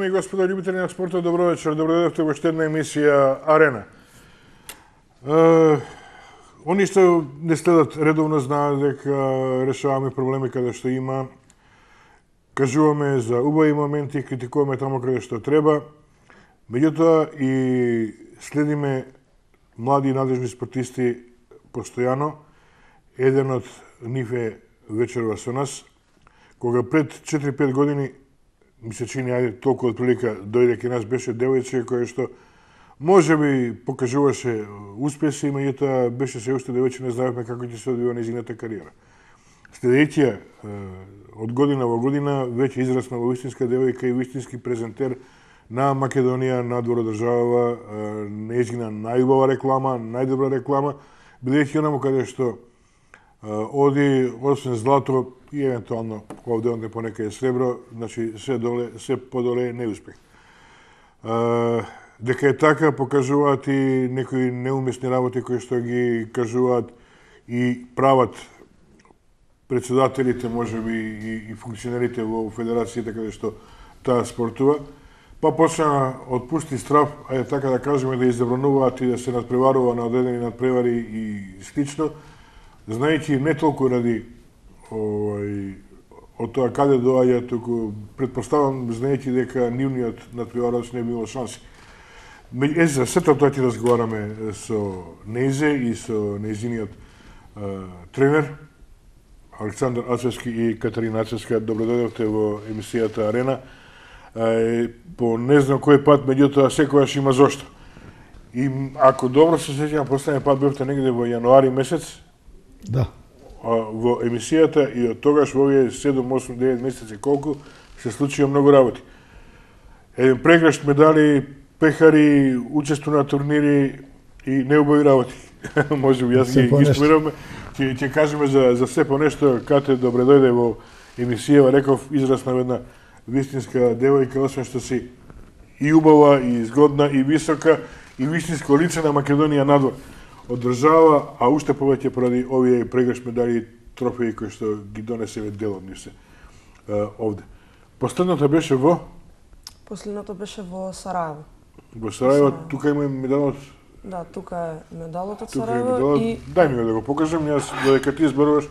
и господа љубители на спортот, добро вечер. Добро дојдовте во уште една емисија Арена. Они што не следат редовно знаат дека решаваме проблеми каде што има. Кажуваме за убави моменти, критикуваме таму каде што треба. Меѓутоа и следиме млади и надежни спортисти постојано. Еден од нив е вечерва со нас. Кога пред 4-5 години ми се чини, ајде, толку од прилика дојде кај нас, беше девојче која што можеби покажуваше успеси, меѓутоа беше се уште девојче, не знаевме како ќе се одвива нејзината кариера. Следејќи ја од година во година веќе израсна во вистинска девојка и вистински презентер на Македонија, надвор од државава, нејзина најубава реклама, најдобра реклама, бидејќи онаму каде што оди, освен злато и евентуално овде онде понекаде сребро, значи се подоле неуспех. Дека е така, покажуваат и некои неумесни работи кои што ги кажуваат и прават председателите, можеби и функционерите во федерацијата каде што таа спортува, па почна од пусти страв, ајде така да кажеме, да иззабрануваат и да се надпреварува на одредени надпревари и слично, знаејќи не толку ради од тоа каде доаѓа, туку предпоставам знаејќи дека нивниот надпреварач не би имал шанси. За сето тоа ќе разговараме со Нејзе и со нејзиниот тренер Александар Ацевски и Катерина Ацевска. Добро дојдовте во емисијата Арена. По не знам кој пат, меѓутоа секогаш има зошто. И ако добро се сеќавам, последниот пат бевте негде во јануари месец. Да. Во емисијата и од тогаш во овие 7, 8, 9 месеци колку се случија многу работи. Еден прегршт медали, пехари, учество на турнири и неубави работи. Може би јас ги спомираме. Ќе кажеме за се по нешто. Кате, добре дојде во емисија, реков, израсна една вистинска девојка, освен што си и убава, и згодна, и висока, и вистинско лице на Македонија надвор од држава, а уште повеќе поради овие прегршт медали и трофеи кои што ги донесеме дел од нив се овде. Последното беше во? Последното беше во Сараево. Во Сараево, тука има медалот? Да, тука е медалот од Тука Сараево. е медалот. И... Дај ми го да го покажам, јас додека ти зборуваш.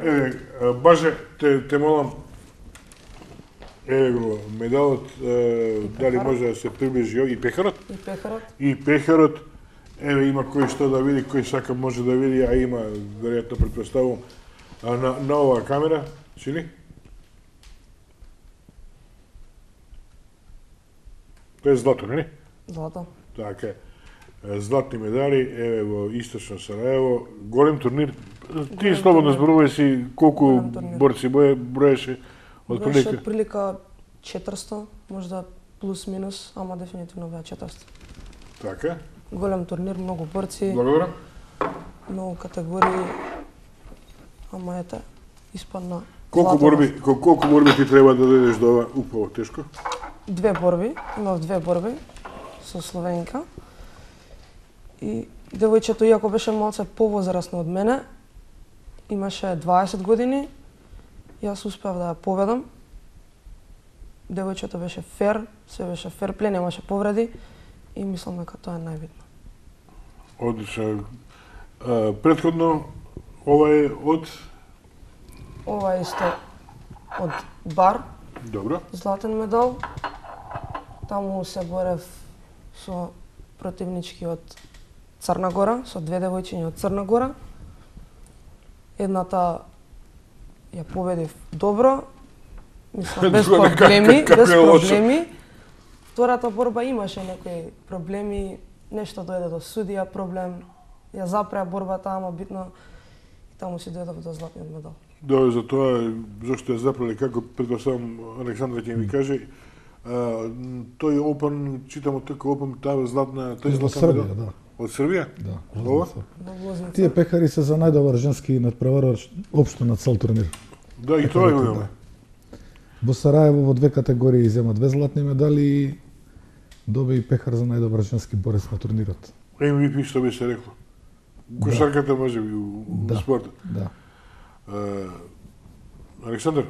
Еве, Баже, те молам, еве го медалот, дали може да се приближи и пехарот? И пехарот. И пехарот. Еве има кој што да види, кој сака може да види, а има, веројатно претпоставувам, на оваа камера, чини? Тоа е злато, нели? Злато. Така е. Златни медали, еве во Источно Сараево, голем турнир. Ти слободно зборувај си колку борци броеше од Броеше прилика? од прилика 400, можда плюс минус, ама дефинитивно беа 400. Така. Голем турнир, многу борци, Благодарам. многу категории, ама ете, испадна Колку борби ти треба да дојдеш до ова упаво тешко? 2 борби, имав 2 борби со Словенка. И девојчето, иако беше малце повозрасно од мене, имаше 20 години, јас успеав да ја победам. Девојчето беше фер, се беше фер плей, немаше повреди и мислам дека тоа е најбитно. Одлично. Претходно, ова е од? Ова е исто од бар, Добро. златен медал. Таму се борев со противнички од Црна Гора, со 2 девојчиња од Црна Гора. Едната ја победив добро, мислам без проблеми, без проблеми. Втората борба имаше некои проблеми, нешто дојде до судија проблем, ја запреа борбата, ама битно и таму си дојдов до златниот медал. Да, за тоа зашто ја запрели, како предпоставам Александра ќе ми каже, тој Опен, читам од тој Опен, таа златна, тој Од златна Србија, медал? да. Од Србија? Да. Ова? Во Лозница. Тие пехари се за најдобар женски надпреварач општо на цел турнир. Да, и тоа го имаме. Во Сараево во 2 категории изема 2 златни медали и доби и пехар за најдобар женски борец на турнирот. MVP што би се рекло. Кошарката може би у спортот. Да. Александар,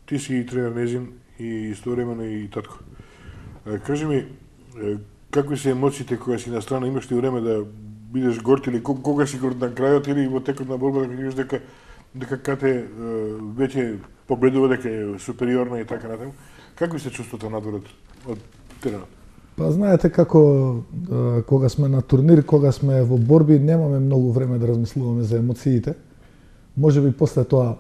ти си и тренер нејзин и истовремено и татко. Кажи ми, какви се емоциите кога си на страна, имаш ли време да бидеш горд или кога си горд на крајот или во текот на борбата кога видиш дека кате веќе победува, дека е супериорна и така натаму? Какви се чувствата надвор од теренот? Па знаете како кога сме на турнир, кога сме во борби, немаме многу време да размислуваме за емоциите. Можеби после тоа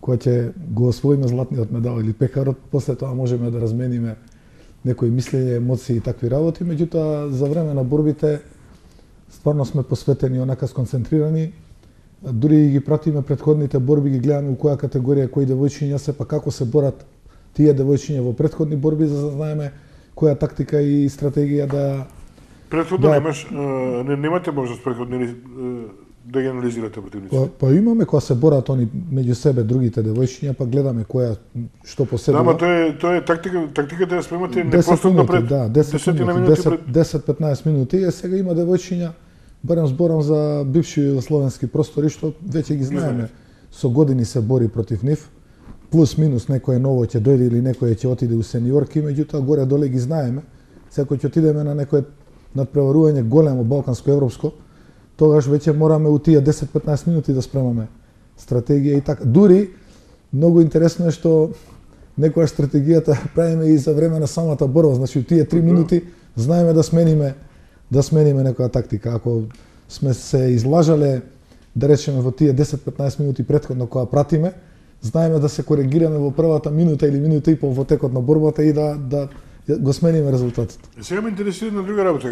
кога ќе го освоиме златниот медал или пекарот, после тоа можеме да размениме некои мислења, емоции и такви работи, меѓутоа за време на борбите стварно сме посветени, онака сконцентрирани. Дури ги пратиме претходните борби, ги гледаме у која категорија кои девојчиња се, па како се борат тие девојчиња во претходни борби, за да знаеме која тактика и стратегија да... Претходно немате можност претходни да ги анализирате противниците? Па имаме кога се борат они меѓу себе другите девојчиња, па гледаме која што поседува. Да, тоа е тактиката да спремате непосредно пред 10-15 минути. Сега има девојчиња, барем зборам за бивши југословенски простори, што веќе ги знаеме. Со години се бори против нив. Плюс минус некој ново ќе дојде или некој ќе отиде у сениорки, меѓутоа горе доле ги знаеме. Секој ќе отидеме на некој надпреварување големо балканско европско, тогаш веќе мораме у тие 10-15 минути да спремаме стратегија и така. Дури многу интересно е што некоја стратегијата правиме и за време на самата борба, значи у тие 3 минути знаеме да смениме некоја тактика. Ако сме се излажале, да речеме во тие 10-15 минути претходно кога пратиме, знаеме да се коригираме во првата минута или минута и пол во текот на борбата и да го смениме резултатот. Сега ме интересира на друга работа.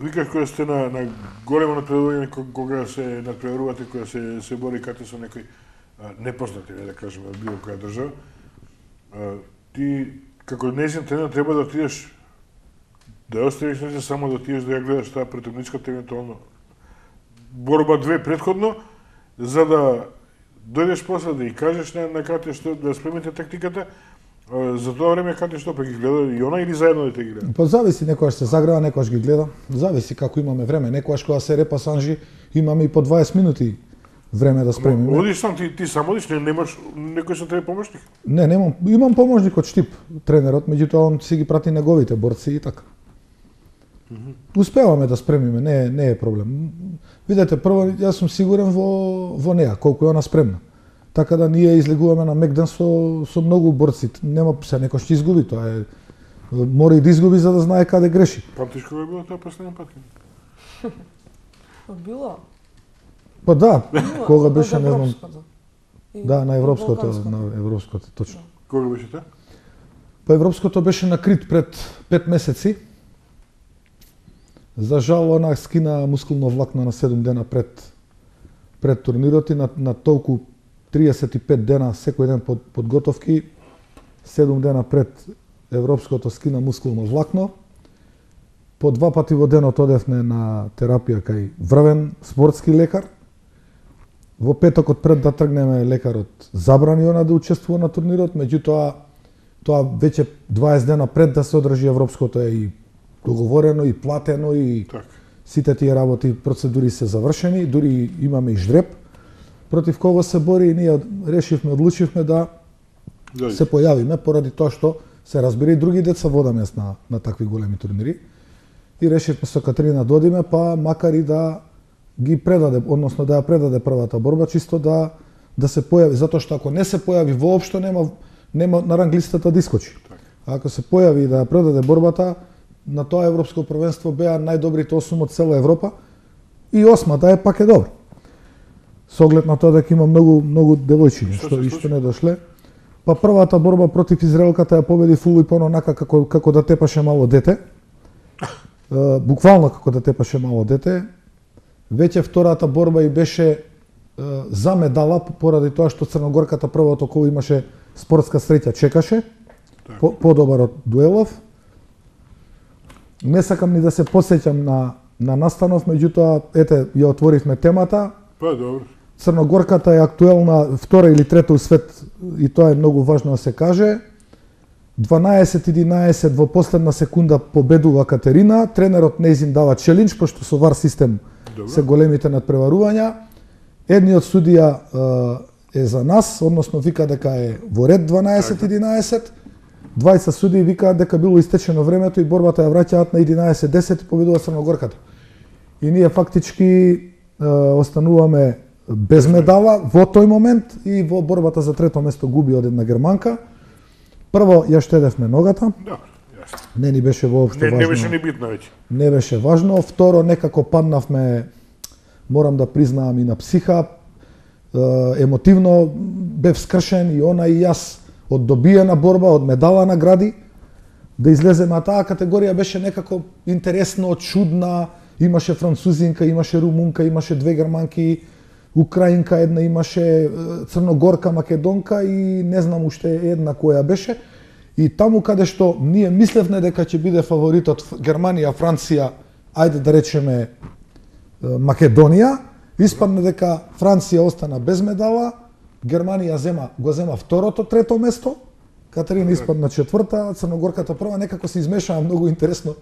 Викаш кога сте на големо надпреварување, кога се надпреварувате, кога се бори кате со некои непознати, да кажеме, од било која држава, ти како нејзин тренер треба да отидеш да оставиш не само да отидеш да ја гледаш таа претходничката евентуално борба 2 претходно, за да дојдеш после да ја кажеш на кате што да спремите тактиката. За тоа време кате што па ги гледа и она или заедно да те ги гледа? Па зависи, некојаш се загрева, некојаш ги гледа. Зависи како имаме време. Некојаш кога се репасанжи имаме и по 20 минути време да спремиме. Одиш сам, ти сам одиш, немаш некој што треба помошник? Не, немам. Имам помошник од Штип, тренерот, меѓутоа он си ги прати неговите борци и така. Успеваме да спремиме, не е проблем. Видете, прво јас сум сигурен во неа, колку е она спремна. Така да ние излегуваме на мек ден со многу борци. Нема се некој што изгуби, тоа е мора и да изгуби за да знае каде греши. Памтиш кога било тоа последен пат? Било. Па да, кога беше, не знам. Да, на европското, точно. Кога беше тоа? Па европското беше на Крит пред 5 месеци. За жал, она скина мускулно влакно на 7 дена пред турнирот и на толку 35 дена секој ден подготовки, 7 дена пред европското скина мускулно влакно. По 2 пати во денот одевме на терапија кај врвен спортски лекар. Во петокот пред да тргнеме лекарот забрани она да учествува на турнирот, меѓутоа тоа веќе 20 дена пред да се одржи европското е и договорено и платено и сите тие работи, процедури се завршени, дури имаме и жреб против кого се бори и ние одлучивме да се појавиме поради тоа што се разбира и други деца водаме на такви големи турнири и решивме со Катерина да одиме, па макар и да ги предаде, односно да ја предаде првата борба, чисто да се појави, затоа што ако не се појави воопшто нема на ранглистата да искочи. А ако се појави и да ја предаде борбата, на тоа европско првенство беа најдобрите 8 од цела Европа и 8-та пак е добро. Со оглед на тоа дека има многу девојчиња што не дошле. Па првата борба против израелката ја победи Фулипон онака како да тепаше мало дете. Буквално како да тепаше мало дете. Веќе втората борба и беше за медала поради тоа што црногорката првото кол имаше спортска среќа, чекаше подобар од дуелов. Не сакам ни да се посеќам на настанов, меѓутоа ете ја отворивме темата. Па добро. Црногорката е актуелна втора или трета у свет и тоа е многу важно да се каже. 12-11 во последна секунда победува Катерина, тренерот нејзин дава челендж пошто со вар систем се големите надпреварувања. Едниот судија е за нас, односно вика дека е во ред 12-11. двајца судии викаат дека било истечено времето и борбата ја враќаат на 11:10 и победува Црногорката. И ние фактички остануваме без медала во тој момент и во борбата за трето место губи од една германка. Прво ја штедевме ногата. Да, јасно. Не ни беше воопшто важно. Не беше ни битно веќе. Не беше важно. Второ, некако паднавме, морам да признаам, и на психа. Емотивно бев скршен и она и јас од добиена борба, од медала награди, да излеземе, а таа категорија беше некако интересно, чудна, имаше французинка, имаше румунка, имаше две германки, украинка една, имаше црногорка, македонка и не знам уште една која беше. И таму каде што ние мислевме дека ќе биде фаворитот Германија, Франција, ајде да речеме Македонија, испадна дека Франција остана без медала, Германија го зема второто, трето место, Катерина испадна четврта, Црногорката прва, некако се измешаа многу интересно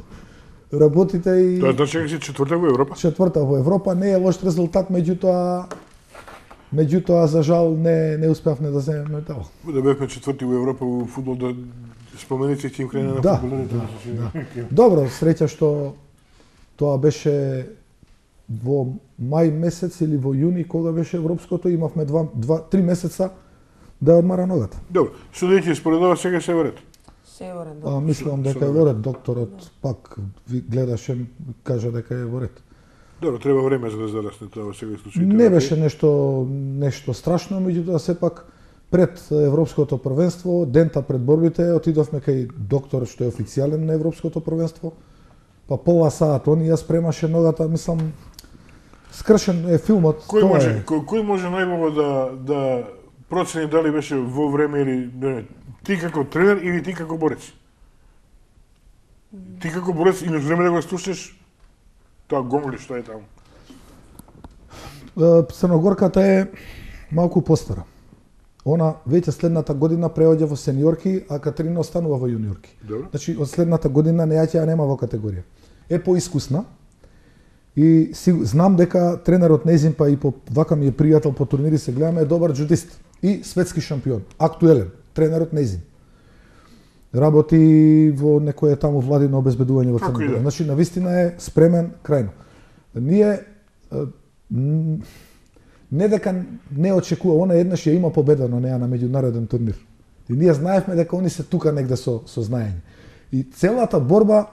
работите и... Тоа значи дека си четврта во Европа? Четврта во Европа, не е лош резултат, меѓутоа за жал не успеавме да земеме медал. Да бевме четврти во Европа во фудбал, да спомените ќе им крена на фудбалерите. Да. Добро, среќа што тоа беше во мај месец или во јуни, кога беше европското, имавме 3 месеца да ја одмара ногата. Добро, судејќи според ова сега се во ред? Се во ред. Мислам дека е во ред, докторот пак ви гледаше, кажа дека е во ред. Добро, треба време за да зарасне тоа во сега случај. Не беше нешто страшно, меѓутоа сепак пред европското првенство, дента пред борбите, отидовме кај доктор што е официјален на европското првенство. Па пола саат он ја спремаше ногата, мислам скршен е филмот. Кој може најмногу да процени дали беше во време или не, ти како тренер или ти како борец? Ти како борец имаш време да го слушнеш тоа гомли што е таму? Црногорката е малку постара. Она веќе следната година преоѓа во сениорки, а Катерина останува во јуниорки. Добро. Значи од следната година нејаќа нема во категорија. Е поискусна и знам дека тренерот нејзин, па и вака ми е пријател по турнири, се гледаме, е добар джудист и светски шампион, актуелен, тренерот нејзин. Работи во некое таму владино обезбедување во Црна Гора. Значи навистина е спремен крајно. Ние не дека не очекува, она еднаш ја има победа на неа на меѓународен турнир. И ние знаевме дека они се тука негде со знаење. И целата борба,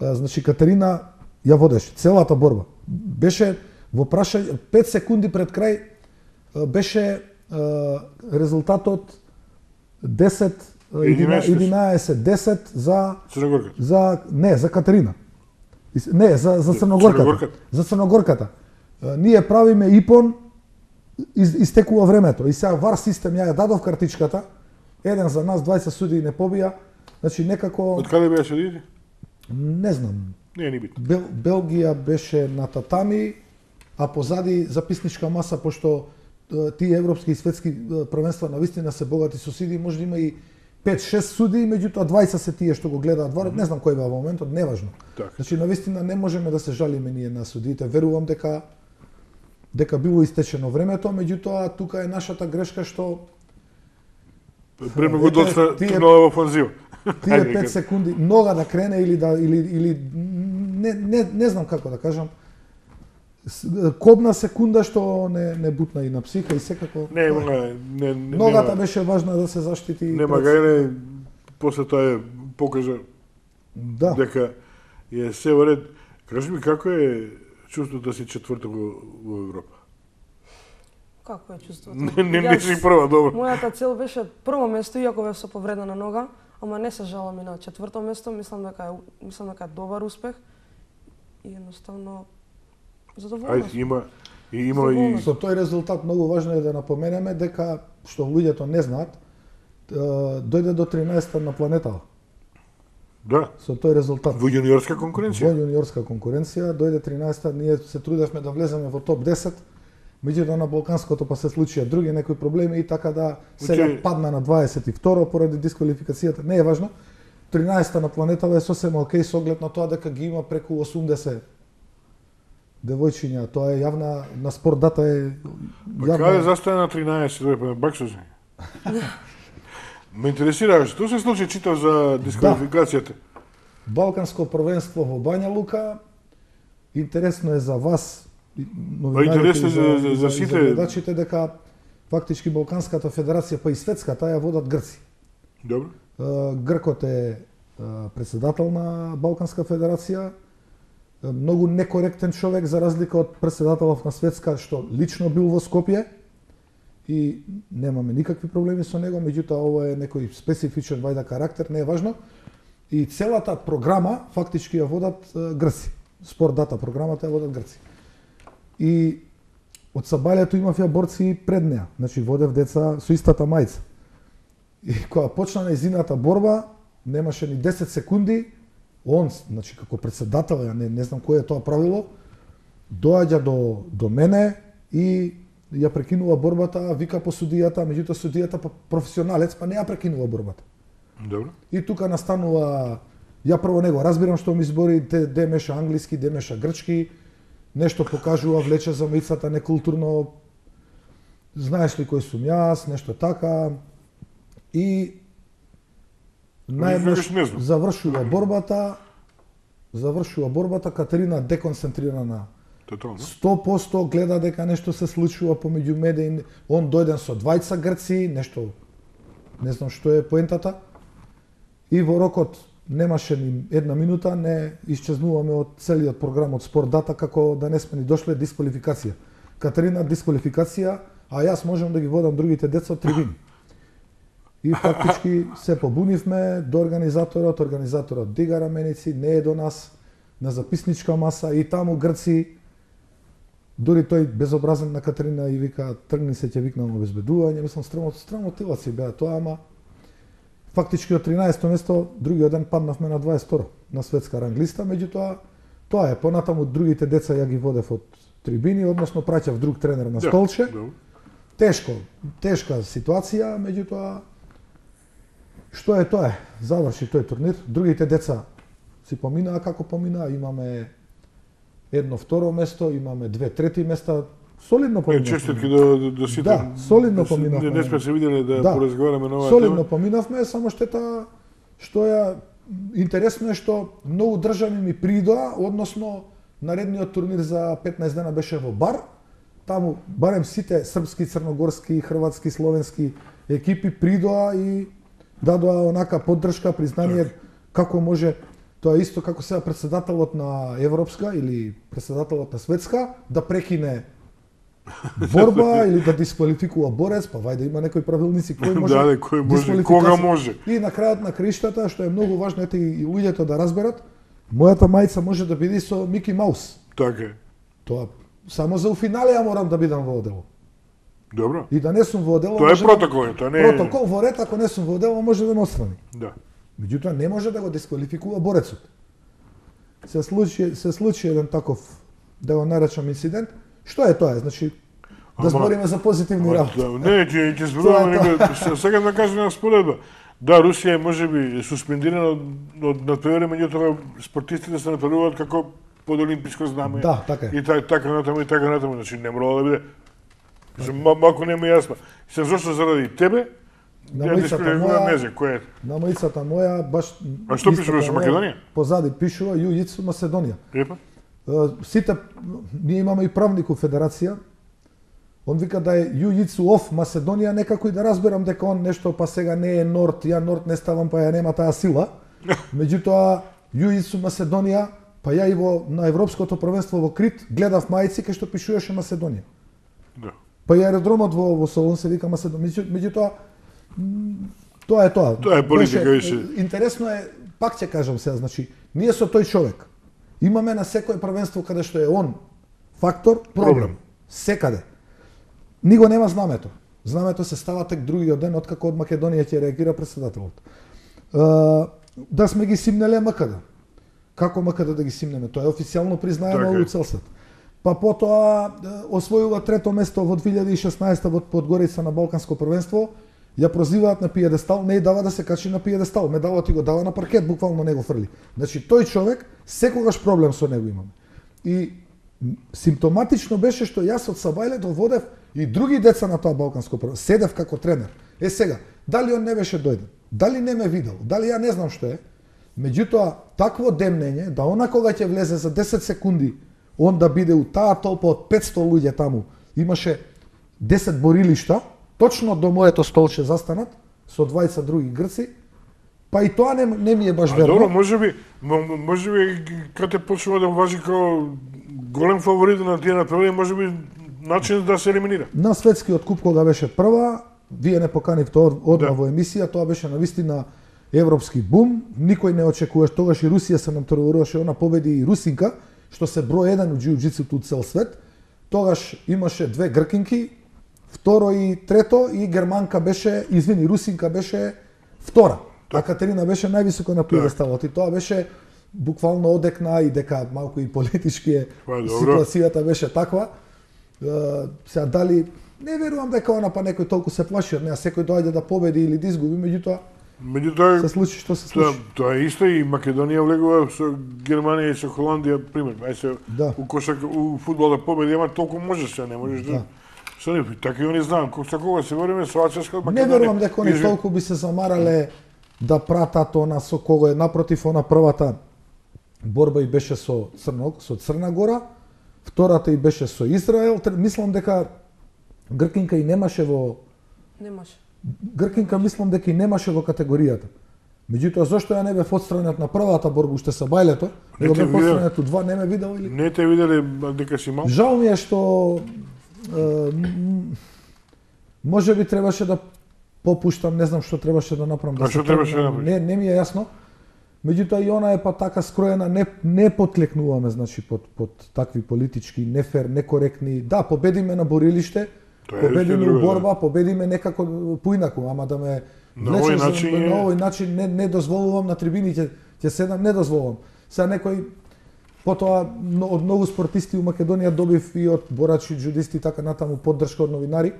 значи Катерина ја водеше, целата борба. Беше во прашање 5 секунди пред крај беше резултатот 11-10 за Црногорката. За Катерина. Не, за Црногорката. За Црногорката. Ние правиме ипон, истекува времето. И сега вар систем ја дадов картичката. Еден за нас, 20 судии не побија. Значи некако... Од каде беа судиите? Не знам. Не е ни битно. Белгија беше на татами, а позади записничка маса, пошто тие европски и светски првенства навистина се богати со судии, може да има и 5-6 судии, меѓутоа 20 се тие што го гледаат варот, не знам кој беа во моментот, неважно. Так. Значи навистина не можеме да се жалиме ние на судиите. Верувам дека било истечено времето, меѓутоа тука е нашата грешка што премногу доста турнала во офанзива. Тие 5 секунди нога да крене или не знам како да кажам. Кобна секунда што не бутна и на психа и секако. Ногата беше важна да се заштити. Нема гајле, после тоа покажа дека е се во ред. Кажи ми како е чувството да си четврта во Европа? Како е чувството? Не си прва, добро. Мојата цел беше прво место, иако бев со повредена нога, ама не се жалам и на четврто место, мислам дека е добар успех и едноставно задоволна сум. Има и со тој резултат многу важно е да напоменеме дека што луѓето не знаат, дојде до 13-та на планетата. Да. Со тој резултат. Во јуниорска конкуренција. Во јуниорска конкуренција дојде 13-та, ние се трудевме да влеземе во топ 10. Меѓутоа на Балканското па се случија други некои проблеми и така да сега падна на 22 поради дисквалификацијата. Не е важно. 13-та на планетата е сосема окей со оглед на тоа дека ги има преку 80 девојчиња. Тоа е јавна на спорт дата е јавна. Па каде застане на 13 баксози? Ме интересира, што се случи, читав за дисквалификацијата? Балканско првенство во Бања Лука, интересно е за вас, интересно е за сите. За гледачите, дека фактички Балканската федерација, па и светската, ја водат грци. Добро. Гркот е председател на Балканска федерација, многу некоректен човек за разлика од председателов на светска што лично бил во Скопје и немаме никакви проблеми со него, меѓутоа ова е некој специфичен вајда карактер, не е важно. И целата програма фактички ја водат грци. Спорт дата програмата ја водат грци. И од Сабајлето имав ја борци пред неа, значи водев деца со истата мајца. И кога почна нејзината борба, немаше ни 10 секунди, он, значи како председател, ја не знам кој е тоа правило, доаѓа до мене и ја прекинува борбата, вика по судијата, меѓутоа судијата професионалец, па не ја прекинува борбата. Добро. И тука настанува, ја прво него разбирам што ми збори, де меша англиски, де меша грчки, нешто покажува, влече за маицата некултурно, знаеш ли кој сум јас, нешто така. И најмнеш завршува борбата, Катерина деконцентрирана. 100% гледа дека нешто се случува помеѓу медеи, он дојден со двајца грци, нешто, не знам што е поентата. И во рокот немаше ни една минута, не исчезнуваме од целиот програм од Спорт Дата, како да не сме ни дошле дисквалификација. Катерина дисквалификација, а јас можам да ги водам другите деца од трибини. И фактички се побунивме до организаторот дига раменици, не е до нас, на записничка маса и таму грци, дури тој безобразен на Катерина и вика, тргни се, ќе викнам обезбедување, мислам, страмотилаци беа тоа, ама фактички од 13-то место, другиот ден паднавме на 22 на светска ранглиста, меѓутоа, тоа е, понатаму другите деца ја ги водев од трибини, односно праќав друг тренер на столче. Тешка ситуација, меѓутоа, што е тоа е, заврши тој турнир, другите деца си поминаа како поминаа, имаме едно второ место, имаме 2 трети места, солидно поминавме. Честитки до сите. Да, солидно поминавме. Не сме се виделе да поразговараме на оваа тема. Солидно поминавме, само штета што ја интересно е што многу држави ми придоа, односно наредниот турнир за 15 дена беше во Бар. Таму барем сите српски, црногорски, хрватски, словенски екипи придоа и дадоа онака поддршка, признание како може. Тоа е исто како сега председателот на Европска или председателот на Светска да прекине борба или да дисквалификува борец, па вајде има некои правилници кој може. Да, кој може, кога може. И на крајот на краиштата, што е многу важно ете и луѓето да разберат, мојата мајца може да биде со Мики Маус. Така е. Тоа само за финале ја морам да бидам во одело. Добро. И да не сум во одело. Тоа е протокол, тоа не е. Протокол во ред, ако не сум во одело, може да ме отстрани. Да. Меѓутоа не може да го дисквалификува борецот. Се случи еден таков, да го наречам инцидент. Што е тоа? Значи да збориме за позитивни работи. Не, ќе зборуваме сега да кажеме на споредба. Да, Русија можеби суспендирана од надпревари, меѓутоа спортистите се надпреваруваат како под олимписко знаме. Да, така е. И така натаму, значи не мора да биде. Малку не ми јасно. Се зошто заради тебе, на маицата моја баш. А што пишуваше Македонија? Позади пишува Јујицу Македонија. Епа. Сите ние имаме и правник у федерација. Он вика да е Јујицу оф Македонија, некако и да разберам дека он нешто па сега не е Норд, ја Норд не ставам па ја нема таа сила. Меѓутоа Јујицу Македонија, па ја и на европското првенство во Крит гледав мајци кај што пишуваше Македонија. Да. Па и аеродромот во Солун се вика Македонија. Меѓутоа тоа е тоа. Тоа е политика више. Интересно е, пак ќе кажам сега, значи, ние со тој човек имаме на секој првенство каде што е он фактор, проблем. Секаде. Него нема знамето. Знамето се става тек другиот ден откако од Македонија ќе реагира председателот. Да сме ги симнеле МКД. Како МКД да ги симнеме? Тоа е официјално признаено во цел свет. Па потоа освојува трето место во 2016 во Подгорица на Балканско првенство. Ја прозиваат на пиедестал, не и дава да се качи на пиедестал, медалот и го дава на паркет, буквално не го фрли. Значи тој човек секогаш проблем со него имаме. И симптоматично беше што јас од Сабајлето водев и други деца на тоа Балканско првенство. Седев како тренер. Сега, дали он не беше дојден, дали не ме видел, дали ја не знам што е, меѓутоа, такво демнење, да она кога ќе влезе за 10 секунди, он да биде у таа толпа од 500 луѓе таму, имаше 10 борилишта, точно до моето столче застанат, со двајца други грци, па и тоа не ми е баш верно. Добро, можеби кате почнува да важи како голем фаворит на тие направи, можеби начин да се елиминира. На светскиот куп кога беше прва, вие не поканивте одма во емисија, тоа беше навистина европски бум, никој не очекуваше, тогаш и Русија се натпреваруваше, она победи и русинка, што се број 1 у џиу-џицуто у цел свет. Тогаш имаше две гркинки, второ и трето, и германка беше, русинка беше втора. А Катерина беше највисоко на пиедесталот и тоа беше буквално одекна и дека малку и политички ситуацијата беше таква. Сега дали не верувам дека она па некој толку се плаши од неа, секој доаѓа да победи или да изгуби, меѓутоа се случи што се случи. Тоа е исто и Македонија влегува со Германија и со Холандија, пример. У кошак, у фудбал да победи, ама толку можеш, не можеш да. Така и они знаат, кога се вориме со Аческа Македонија. Не верувам дека они толку би се замарале да пратат она со кого е напротив, она првата борба и беше со Црна Гора, втората и беше со Израел. Мислам дека Гркинка и немаше во Гркинка мислам дека и немаше во категоријата. Меѓутоа зошто ја не бев отстранет на првата борба уште со бајлето, него бев отстранет у два, не ме видел или? Не те виделе дека си мал? Жал ми е што може би требаше да попуштам, не знам што требаше да направам. А што требаше да направиш? Не ми е јасно. Меѓутоа и она е па така скроена, не потклекнуваме значи под такви политички нефер, некоректни. Да, победиме на борилиште, победиме у борба, победиме некако поинаку, ама да ме на овој начин не дозволувам на трибините, ќе седам, не дозволувам. Сега некој потоа од многу спортисти у Македонија добив и од борачи, џудисти така натаму поддршка од новинари.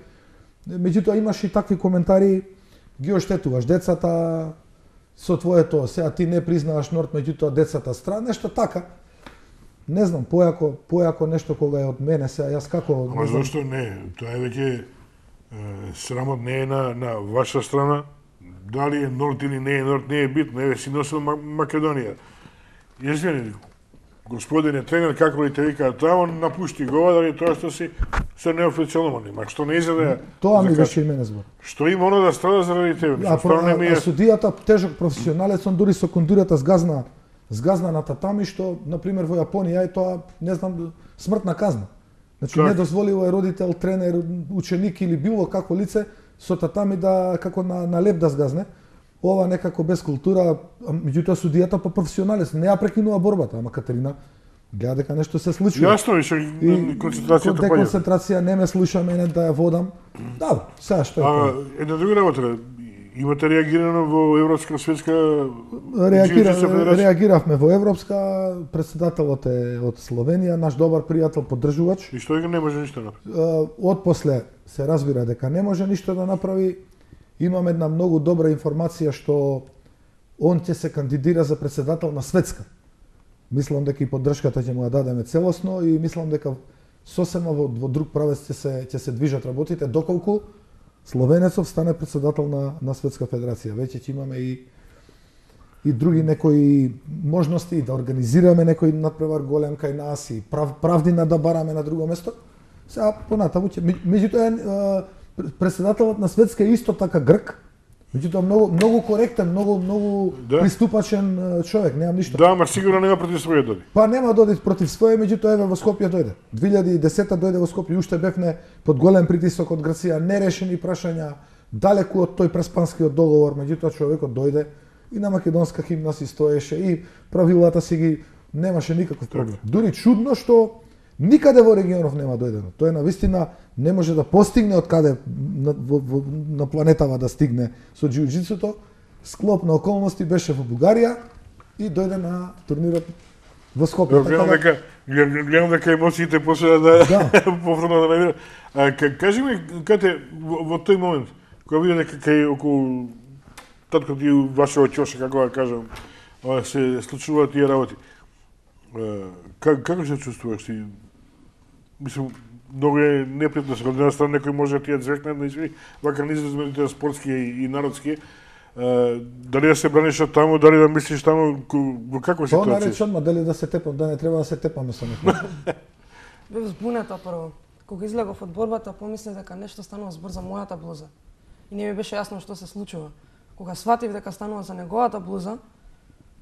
Меѓутоа имаш и такви коментари, ги оштетуваш децата со твоето, сега ти не признаваш Норд, меѓутоа децата страна, нешто така. Не знам, појако нешто кога е од мене, сега јас како... Ама зашто не? Тоа е веќе срамот не е на ваша страна. Дали е Норд или не е Норд, не е битно. Еве си носил Македонија. Извини, господине тренер, како ли те викаат тамо, напушти го, дали тоа што си се неофицијално нема. Што не изеде... Тоа ми беше и мене збор. Што има оно да страда заради тебе? А судијата, тежок професионалец, он дури со кондурата сгазна на татами, што, например, во Јапонија е тоа, не знам, смртна казна. Значи, не дозволило е родител, тренер, ученик или било како лице со татами да, како на леп да сгазне. Ова некако без култура, меѓутоа судијата по професионалец, не ја прекинува борбата, ама Катерина гледа дека нешто се случи. Јасно и концентрацијата паѓа. Деконцентрација не ме слуша мене да ја водам. Да, сега што е. Една друга работа, имате реагирано во Европска светска реагиравме во Европска, претседателот е од Словенија, наш добар пријател, поддржувач. И што не може ништо да направи? Отпосле се разбира дека не може ништо да направи. Имам една многу добра информација што он ќе се кандидира за претседател на светска. Мислам дека и поддршката ќе му ја дадеме целосно и мислам дека сосема во друг правец ќе се движат работите доколку словенецов стане претседател на Светска федерација. Веќе ќе имаме и други некои можности да организираме некој надпревар голем кај нас и правдина да бараме на друго место. Сега понатаму ќе меѓутоа претседателот на Светска е исто така грк. Меѓутоа многу коректен, многу приступачен човек, немам ништо. Да, ама сигурно нема против своје дојде. Па нема дојде против своје, меѓутоа еве во Скопје дојде. 2010 дојде во Скопје, уште бевме под голем притисок од Грција, нерешени прашања, далеку од тој преспанскиот договор, меѓутоа човекот дојде и на македонска химна си стоеше и правилата си ги немаше никаков проблем. Дури чудно што никаде во регионов нема дојдено. Тој навистина не може да постигне од каде на планетава да стигне со џиу-џицуто. Склоп на околности беше во Бугарија и дојде на турнирот во Скопје. Гледам дека емоциите после да повторно да навира. Кажи ми, кате во тој момент, кога виде дека кај околу татко ти вашето ќоше, како да кажам, се случуваат тие работи. Како се чувствуваш ти? Мислам, многу е непријатно се од една страна некој може да ти ја звекне, значи вака низмените спортски и народски. Дали да се браниш од таму, дали да мислиш таму, во каква ситуација? Тоа нарече одма, дали да се тепам, да не треба да се тепаме со некој. Бев збунета прво. Кога излегов од борбата, помислев дека нешто станува збор за мојата блуза. И не ми беше јасно што се случува. Кога сватив дека станува за неговата блуза,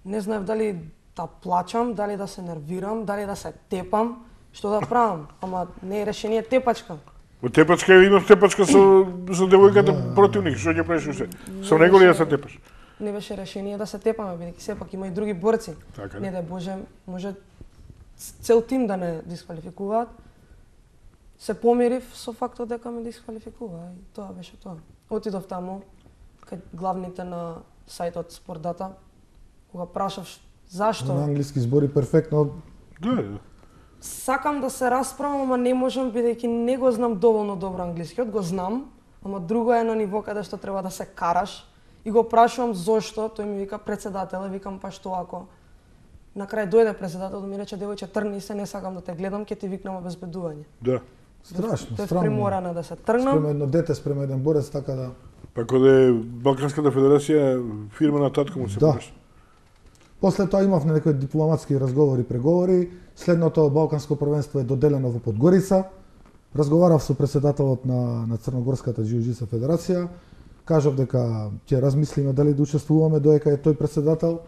не знаев дали да плачам, дали да се нервирам, дали да се тепам, што да правам. Ама не е решение тепачка. Во тепачка имав тепачка со девојката противник, што ќе правиш уште? Со него ли да се тепаш? Не беше решение да се тепаме, бидејќи сепак има и други борци. Така, не да Боже, може цел тим да не дисквалификуваат. Се помирив со фактот дека ме дисквалификува и тоа беше тоа. Отидов таму кај главните на сајтот Спортдата, кога прашав зашто. На англиски збори перфектно. Да. Сакам да се расправам, ама не можам бидејќи не го знам доволно добро англискиот, го знам, ама друго е на ниво каде што треба да се караш и го прашувам зошто, тој ми вика председател, викам па што ако на крај дојде председател да ми рече девојче тргни се, не сакам да те гледам, ќе ти викнам обезбедување. Да. Страшно, Тој странно. приморана да се тргнам. Спрема едно дете, спрема еден борец, така да... Па кога е Балканската федерација, фирма на татко му се пораш. После тоа имавме некои дипломатски разговори, преговори. Следното Балканско првенство е доделено во Подгорица. Разговарав со председателот на Црногорската џиу-џитсу федерација. Кажав дека ќе размислиме дали да учествуваме доека е тој председател.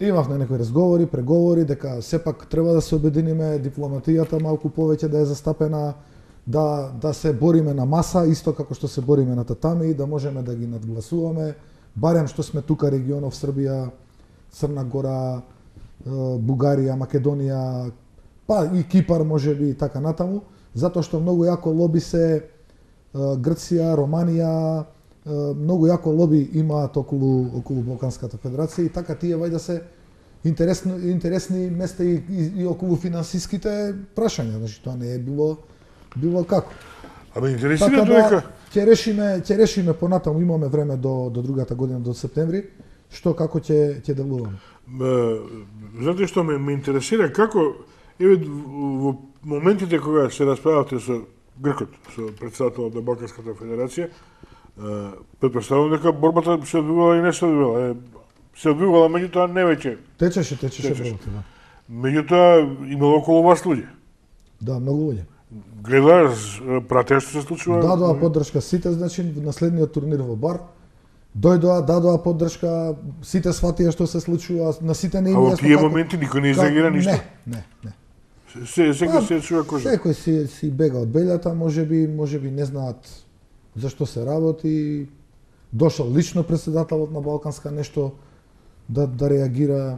Имавме некои разговори, преговори, дека сепак треба да се обединиме, дипломатијата малку повеќе да е застапена, да се бориме на маса, исто како што се бориме на татами, да можеме да ги надгласуваме, барем што сме тука регионов Србија, Црна Гора, Бугарија, Македонија, па и Кипар можеби и така натаму, затоа што многу јако лоби се Грција, Романија, многу јако лоби имаат околу Балканската федерација и така тие вајда се интересни места и околу финансиските прашања, значи тоа не е било како. Ама интересира така дека ќе решиме понатаму, имаме време до другата година, до септември, што како ќе делуваме. Знаете што ме интересира како еве во моментите кога се расправавте со Гркот, со председателот на Балканската федерација, претпоставувам дека борбата се одвивала и не се одвивала. Се одвивала, меѓутоа не веќе. Течеше борбата, да. Меѓутоа имало околу вас луѓе. Да, многу луѓе. Гледаш, пратеа што се случува? Дадоа поддршка сите, значи на следниот турнир во Бар. Дадоа поддршка, сите сватија што се случува, на сите не им јасно. А во тие моменти никој не изреагира ништо? Не. Секој се чува кожа. Секој си бега од бељата, можеби не знаат зашто се работи. Дошол лично председателот на Балканска нешто да реагира.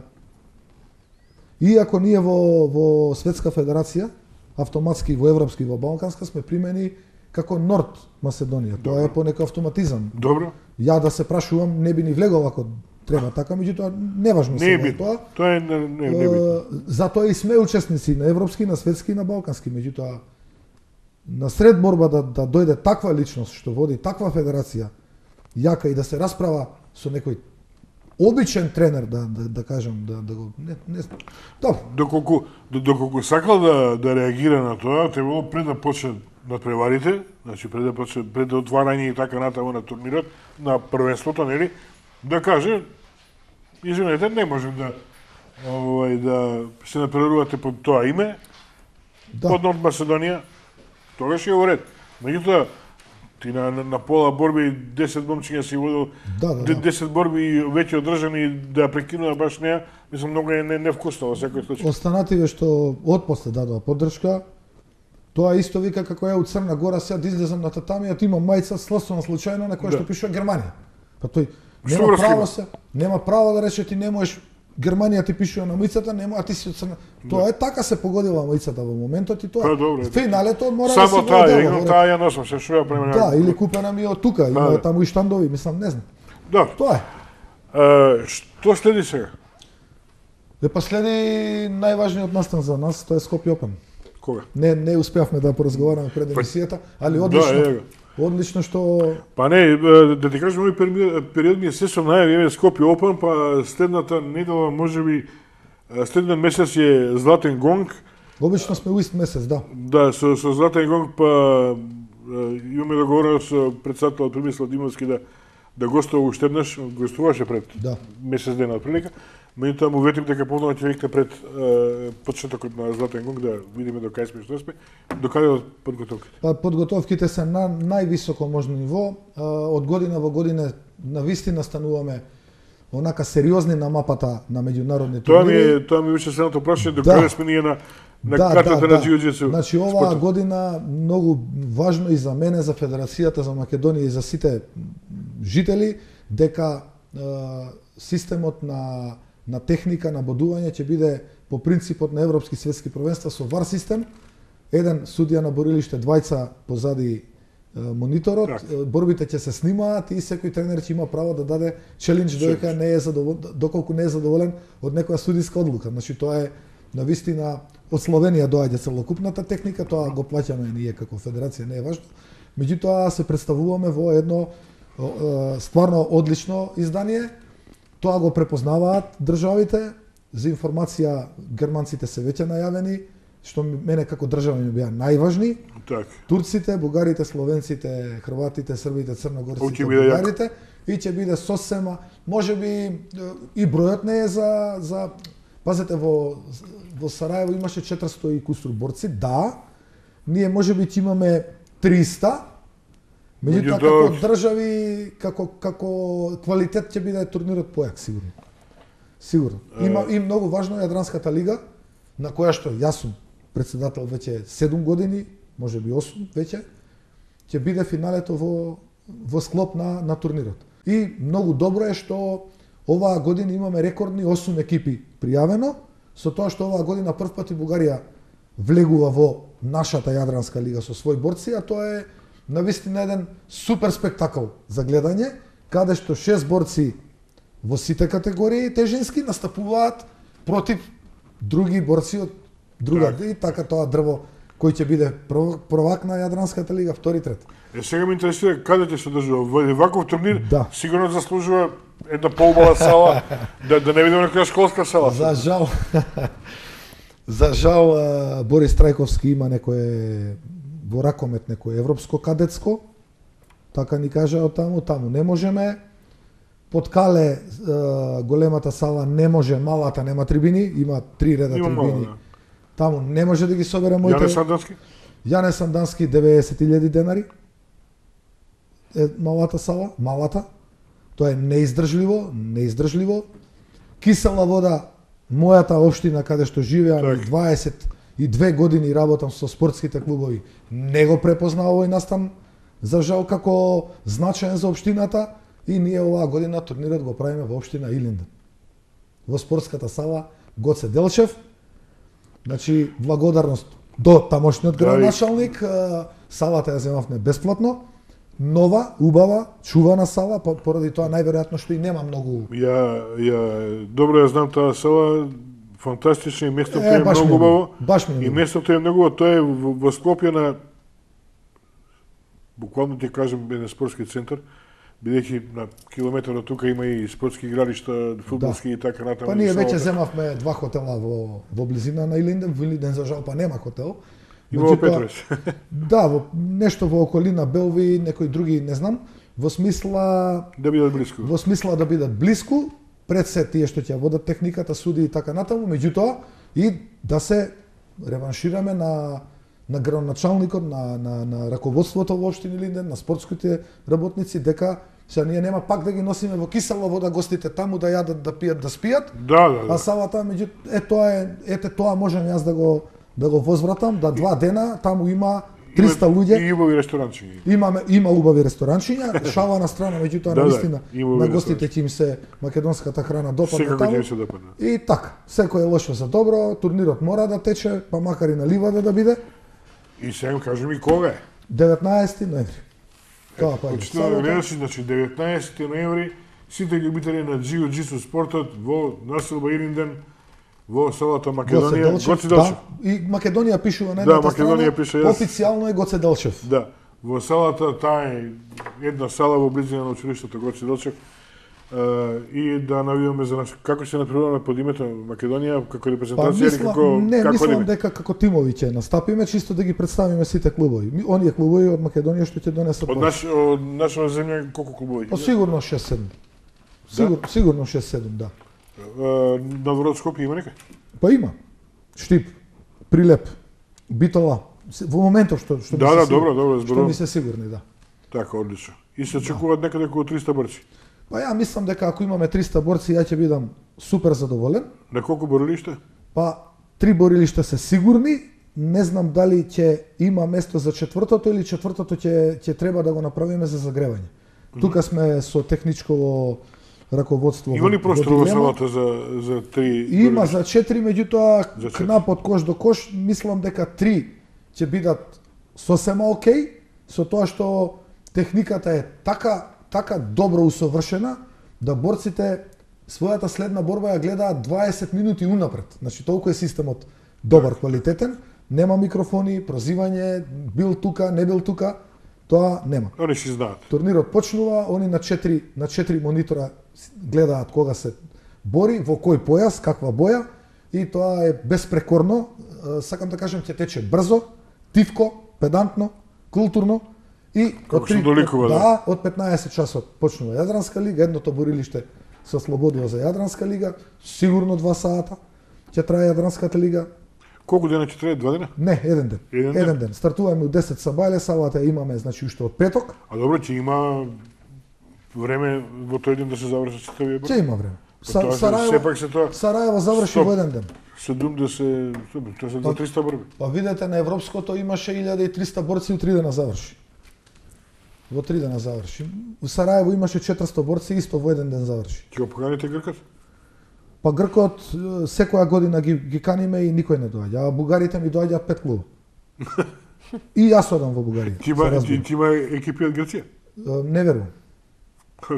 Иако ние во Светска федерација, автоматски во Европски во Балканска сме примени како Норд Македонија. Тоа е по некој автоматизам. Добро. Ја да се прашувам, не би ни влегол ако треба така, меѓутоа неважно се е тоа. Тоа е не битно. Затоа и сме учесници на европски, на светски и на балкански, меѓутоа на сред борба да дојде таква личност што води таква федерација, јака и да се расправа со некој обичен тренер, да кажам, да го не Добро. Доколку сакал да реагира на тоа, требало пред да почне надпреварите, значи пред да отварање и така натаму на турнирот, на првенството, нели, да каже, извинете, не можем да се надпреварувате под тоа име, под Норд Македонија, тогаш е во ред. Меѓутоа, ти на пола борби 10 момчиња си водил, 10 борби и веќе одржани да прекинува баш неа, мислам многу е невкусно во секој случај. Останативе што отпосле дадоа поддршка, тоа исто вика како ја од Црна Гора сега да излезам на татамијата, имам мајца слосвена случајно на која што пишува Германија. Па тој нема право да рече ти не можеш, Германија ти пишува на мајцата, нема, а ти си од Црна. Тоа е така се погодила мајцата во моментот и тоа. Финалето мора да се само таа ја носам, се шуја премена. Да, или купена ми од тука, има таму и штандови, мислам, не знам. Да. Тоа е. Што следи сега? Па следи најважниот настан за нас, тоа е Скопје Опен. Кога? Не успеавме да поразговараме пред емисијата, али одлично. Одлично што... Па не, да ти кажам, овој период ми е се со најави Скопје Опен, па следната недела, можеби, следниот месец е Златен гонг Обично сме у ист месец, да. Да, со Златен гонг па имаме договорено со претседателот Премислав Димовски да гостува уште еднаш, гостуваше пред месец дена отприлика. Меѓутоа му ветим дека повторно ќе викне пред почетокот на Златен гонг да видиме до кај сме, што сме, до каде од подготовките. Па подготовките се на највисоко можно ниво. Од година во година навистина стануваме онака сериозни на мапата на меѓународни турнири. Тоа ми беше следното прашање, до каде сме ние на картата на џиу-џитсу. Значи оваа година многу важно и за мене, за Федерацијата за Македонија и за сите жители дека системот на техника на бодување ќе биде по принципот на европски светски првенства со VAR систем. Еден судија на борилиште, двајца позади мониторот, борбите ќе се снимаат и секој тренер ќе има право да даде челендж доколку не е задоволен од некоја судиска одлука. Значи тоа е навистина од Словенија доаѓа целокупната техника, тоа го плаќаме ние како федерација, не е важно. Меѓутоа се представуваме во едно стварно одлично издание. Тоа го препознаваат државите. За информација, германците се веќе најавени, што мене како држава ми беа најважни. Так. Турците, бугарите, словенците, хрватите, србите, црногорците, бугарите. И ќе биде сосема, можеби и бројот не е за пазете во Сараево имаше 400 и кусур борци, да. Ние можеби ќе имаме 300. Меѓутоа како држави, како квалитет ќе биде турнирот појак сигурно. Сигурно. Има и многу важно Јадранската лига, на која што јас сум претседател веќе 7 години, можеби 8 веќе, ќе биде финалето во склоп на турнирот. И многу добро е што оваа година имаме рекордни 8 екипи пријавено, со тоа што оваа година прв пат и Бугарија влегува во нашата Јадранска лига со свој борци, а тоа е навистина еден супер спектакл за гледање, каде што 6 борци во сите категории тежински настапуваат против други борци од друга и така тоа дрво кој ќе биде првак на Јадранската лига, втори, трет. Сега ме интересира каде ќе се одржува во ваков турнир. Сигурно заслужува една поубава сала, да не видиме некоја школска сала. За жал Борис Трајковски има некое во ракомет некое европско кадетско. Така ни кажа од таму не можеме. Под Кале големата сала не може, малата нема трибини, има 3 реда трибини. Таму не може да ги собере моите. Јане Сандански? Јане Сандански 90.000 денари. Малата сала, малата. Тоа е неиздржливо. Кисела вода, мојата општина каде што живеам 22 години работам со спортските клубови, не го препознаа овој настан за жал како значаен за општината и ние оваа година турнирот го правиме во општина Илинден. Во спортската сала Гоце Делчев. Значи, благодарност до тамошниот градоначалник, салата ја земавме бесплатно, нова, убава, чувана сала, поради тоа најверојатно што и нема многу. Добро ја знам таа сала, фантастична и местото е многу убаво. И местото е многу, тоа е во Скопје на буквално ти кажам еден спортски центар, бидејќи на километар од тука има и спортски игралишта, фудбалски и така натаму. Па ние веќе земавме 2 хотела во близина на Илинден, во Илинден за жал па нема хотел. Има во Петровец. Да, нешто во околина Белви, некои други не знам, во смисла да бидат блиску. Во смисла да бидат блиску, пред се тие што ќе водат техниката, суди и така натаму, меѓутоа и да се реваншираме на градоначалникот, на раководството во општина Илинден, на спортските работници, дека сега ние нема пак да ги носиме во кисела вода гостите таму да јадат, да пијат, да спијат. Да. А салата меѓу тоа можам јас да го возвратам, да 2 дена таму има 300 луѓе. И убави ресторанчиња. Има убави ресторанчиња, шала на страна, меѓутоа навистина на гостите ќе им се македонската храна допадна таму. И така, секој е лошо за добро, турнирот мора да тече, па макар и на ливада да биде. И сега кажи ми кога е? 19 ноември. Тоа па значи 19 ноември сите љубители на џиу-џитсу спортот во населба Илинден во селото Македонија, Гоце Делчев. И Македонија пишува на едната страна, официјално е Гоце Делчев. Да, во селата, таа е една сала во близина на училиштето Гоце Делчев. и да навиваме за нас. Како се напредуваме под името Македонија, како репрезентација или како мислам дека како тимови ќе настапиме, чисто да ги представиме сите клубови. Оние клубови од Македонија што ќе донесат. Од нашата земја колку клубови? Сигурно 6-7. Сигурно 6-7, да. Надвор од Скопје има некај? Па има. Штип, Прилеп, Битола. Во моментов што да, добро, што ми се сигурни, да. Така, одлично. И се очекуваат некаде околу 300 борци. Па ја мислам дека ако имаме 300 борци, ја ќе бидам супер задоволен. На колку борилишта? Па 3 борилишта се сигурни. Не знам дали ќе има место за четвртото или четвртото ќе треба да го направиме за загревање. Тука сме со техничко раководство. Има ли простор во салата за 3? Има за 4, меѓутоа кнапот кош до кош, мислам дека 3 ќе бидат сосема окей, со тоа што техниката е така добро усовршена да борците својата следна борба ја гледаат 20 минути унапред. Значи толку е системот добар, квалитетен, нема микрофони, прозивање, бил тука, не бил тука, тоа нема. Они си знаат. Турнирот почнува, они на 4 монитора гледаат кога се бори, во кој појас, каква боја, и тоа е безпрекорно. Сакам да кажам, ќе тече брзо, тивко, педантно, културно. И од 15 часот почнува Јадранска лига, едното борилиште се ослободува за Јадранска лига, сигурно 2 сата ќе трае Јадранската лига. Колку дена ќе трае, 2 дена? Не, еден ден. Еден ден. Стартуваме од 10 сабајле, сабата имаме значи уште од петок. А добро, ќе има време во тој ден да се завршат сите овие борби? Ќе има време. Сараево заврши во еден ден. 70, тоа се за 300 борби. Па видете, на европското имаше 1300 борци у 3 дена заврши. Во 3 дена заврши. Во Сараево имаше 400 борци, исто во еден ден заврши. Ќе го поканите Гркот? Па Гркот секоја година ги каниме и никој не доаѓа. А бугарите ми доаѓаат 5 клуба. И јас одам во Бугарија. Ти има екипи од Грција? Не верувам.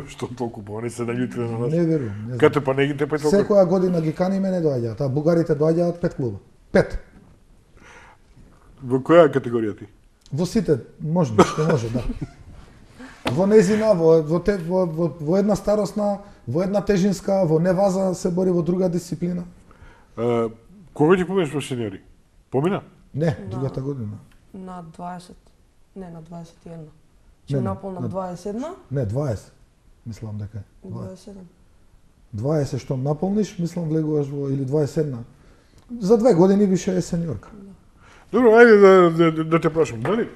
Што толку па не се наљутиле на нас? Не верувам. Кате па не ги тепај толку? Секоја година ги каниме, не доаѓаат, а бугарите доаѓаат 5 клуба. 5. Во која категорија ти? Во сите може, што може, да. Во незина, во една старосна, во една тежинска, во неваза се бори во друга дисциплина. Кога ќе поминеш во сениори? Помина? Не, другата година. На 20, не на 21. Ќе наполнам 21? Не, 20. Мислам дека е. 27. 20 што наполниш, мислам влегуваш во или 21. За 2 години више е сениорка. Добро, ајде да те прашам, дали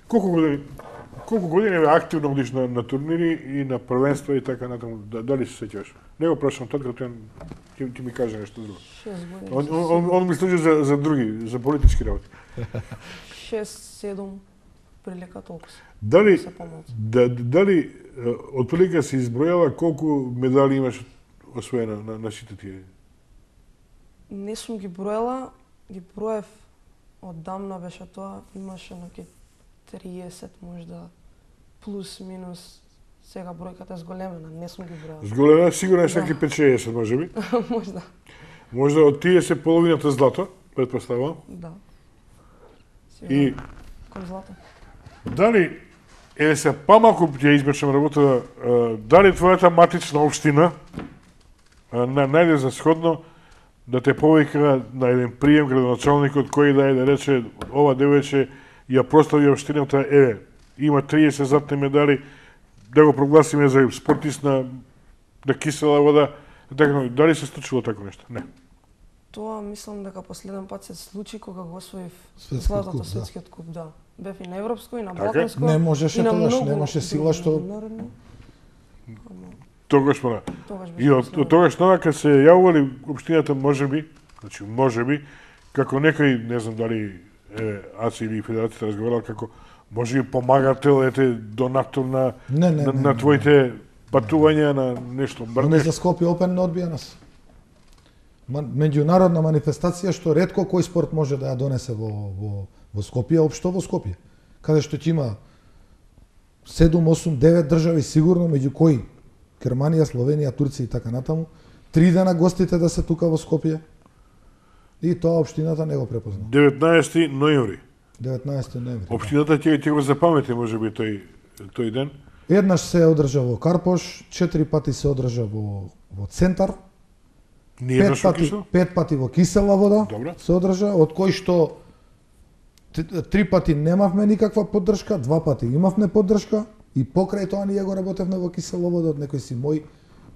колку години бе активно одиш на турнири и на првенства и така натаму, дали се сеќаваш? Не го прашам тоа, като ти ми каже нешто друго. 6 години. Он ми служи за други, за политички работи. 6-7 прилика толку се. Дали од прилика се избројала колку медали имаш освоена на сите тие? Не сум ги броела, ги броев оддамна беше тоа, имаше наки 30 можда плюс минус. Сега бројката е зголемена, не сум ги броела. Зголемена, сигурно е саки 5-60 можеби. Можда. Можда од тие се половината злато, претпоставувам. Да. И кон злато. Дали се помалку ќе избршам работа, дали твојата матична општина најде за сходно да те повика на еден прием градоначалникот кој да рече ова девојче ја прослави општината, има 30 златни медали, да го прогласиме за спортист на кисела вода, дали се случило тако нешто? Не. Тоа мислам дека последен пат се случи кога го освоив златото светскиот куп, да. Бев и на европско и на балканско. Не можеше тогаш, немаше сила што Тогаш пора. И од тогаш навака се јавували општината можеби, како некој, не знам дали АЦИ или Федерацијата разговарал како можеби помагател, донатор на твоите патувања на нешто. Не за Скопје Опен не одбија нас. Меѓународна манифестација што ретко кој спорт може да ја донесе во Скопје, општо во Скопје. Каде што ќе има 7, 8, 9 држави сигурно, меѓу кои Германија, Словенија, Турција и така натаму, 3 дена гостите да се тука во Скопје. И тоа општината не го препозна. 19 ноември. 19 ноември. Општината ќе го запамети можеби тој ден. Еднаш се одржа во Карпош, 4 пати се одржа во Центар, 5 пати во кисела вода. Добре. Се одржа, од кои што 3 пати немавме никаква поддршка, 2 пати имавме поддршка и покрај тоа ние го работевме во кисела вода од некои си мои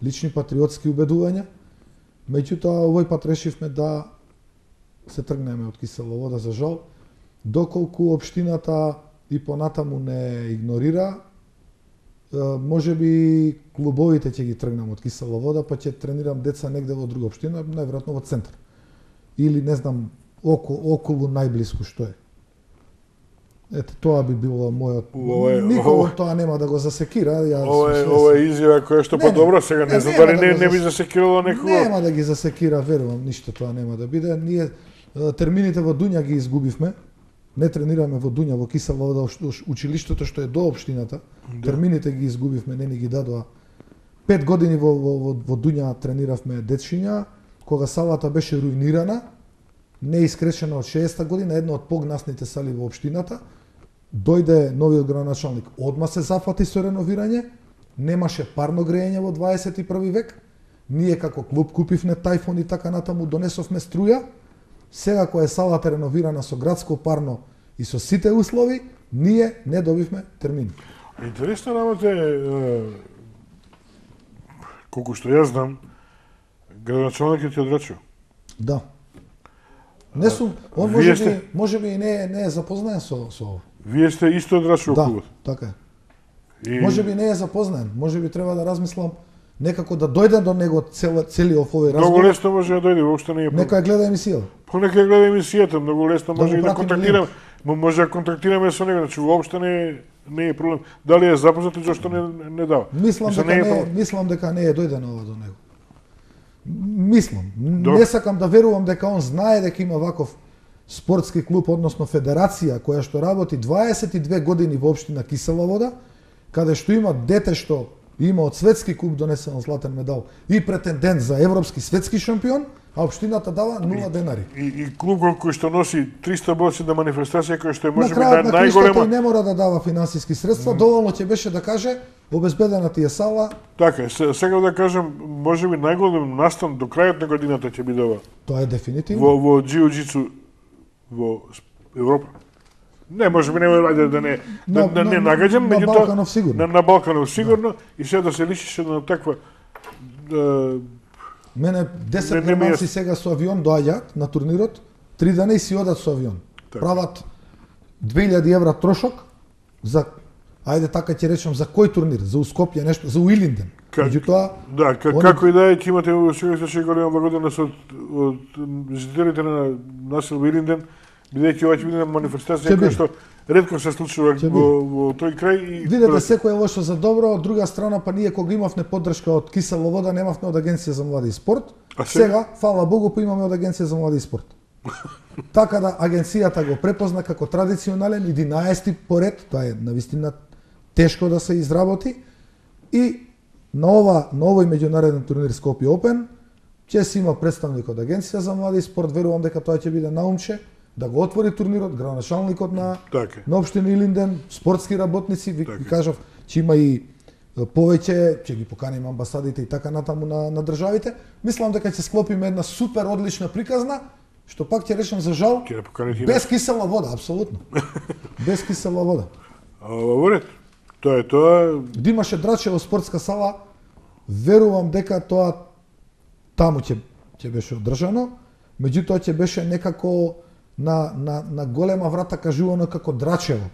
лични патриотски убедувања. Меѓутоа овој пат решивме да се тргнеме од кисела вода, за жал, доколку општината и понатаму не игнорира. Може би клубовите ќе ги тргнам од кисела вода, па ќе тренирам деца негде во друга општина, најверојатно во Центар. Или не знам, околу најблиску што е. Ете, тоа би било мојот... Никого тоа нема да го засекира. Ова е изјава која што по-добро сега, не знам дали не би засекирало некого. Нема да ги засекира, верувам, ништо тоа нема да биде. Ние термините во Дуња ги изгубивме. Не тренираме во Дуња, во кисела вода, училиштето што е до општината. Термините ги изгубивме, не ни ги дадоа. 5 години во Дуња трениравме дечиња, кога салата беше руинирана, не искречена од 60-та година, една од погнасните сали во општината. Дојде новиот градоначалник, одма се зафати со реновирање, немаше парно грејење во 21 век. Ние како клуб купивме тајфон и така натаму, донесовме струја. Сега која е салата реновирана со градско парно и со сите услови, ние не добивме термин. Интересна работа е, колку што јас знам, градоначалникот е одрачил. Да. Не сум, он може би и не е запознаен со ово. Вие сте исто одрачил клубот. Да, така е. Може би не е запознаен, може би треба да размислам некако да дојде до него целиот овој разговор. Многу лесно може да дојде, воопшто не е проблем. Нека ја гледа емисијата. Нека ја гледа емисијата, многу лесно може и да контактираме. Може да контактираме со него, значи воопшто не е проблем. Дали е запознат и зашто не дава. Мислам дека не е дојдено до него. Мислам. Не сакам да верувам дека он знае дека има ваков спортски клуб, односно федерација која што работи 22 години во општина Кисела вода, каде што има дете што има од светски куп донесен златен медал и претендент за европски светски шампион, а општината дава 0 денари. И клуб кој што носи 300 борци на манифестација, кој што е можеби најголема. На крајот не мора да дава финансиски средства, доволно ќе беше да каже обезбедена ти е сала. Така, сега да кажам, можеби најголем настан до крајот на годината ќе биде ова. Тоа е дефинитивно. Во џиу-џицу во Европа. Не, можеби не да не нагаѓам, меѓутоа на Балканов сигурно. На Балканов сигурно и сега да се лишише на таква Мене 10 германци сега со авион доаѓаат на турнирот, 3 дена и си одат со авион. Прават 2000 евра трошок за, ајде така ќе речем, за кој турнир? За Скопје нешто, за Уилинден. Меѓутоа, да, како и да е, ќе имате во секој случај голема благодарност од жителите на насел Уилинден, бидејќи ова ќе биде манифестација која што ретко се случува во тој крај. Видете, секој е лошо за добро, од друга страна, па ние кога имавме поддршка од Кисела вода, немавме од Агенција за млади и спорт. Сега, фала Богу, па имаме од Агенција за млади и спорт. Така да агенцијата го препозна како традиционален 11-ти поред, тоа е навистина тешко да се изработи, и на овој меѓународен турнир Скопје Опен ќе си има представник од Агенција за млади и спорт, верувам дека тоа ќе биде наумче да го отвори турнирот, градоначалникот на општина Илинден, спортски работници, ви кажав, че има и повеќе, ќе ги поканим амбасадите и така натаму на државите. Мислам дека ќе склопиме една супер одлична приказна, што пак ќе речем за жал, без кисела вода, апсолутно. Без кисела вода. Во ред. Тоа е тоа. Да имаше Драчево спортска сала, верувам дека тоа таму ќе беше одржано, меѓутоа ќе беше некако на голема врата кажувано како Драчево.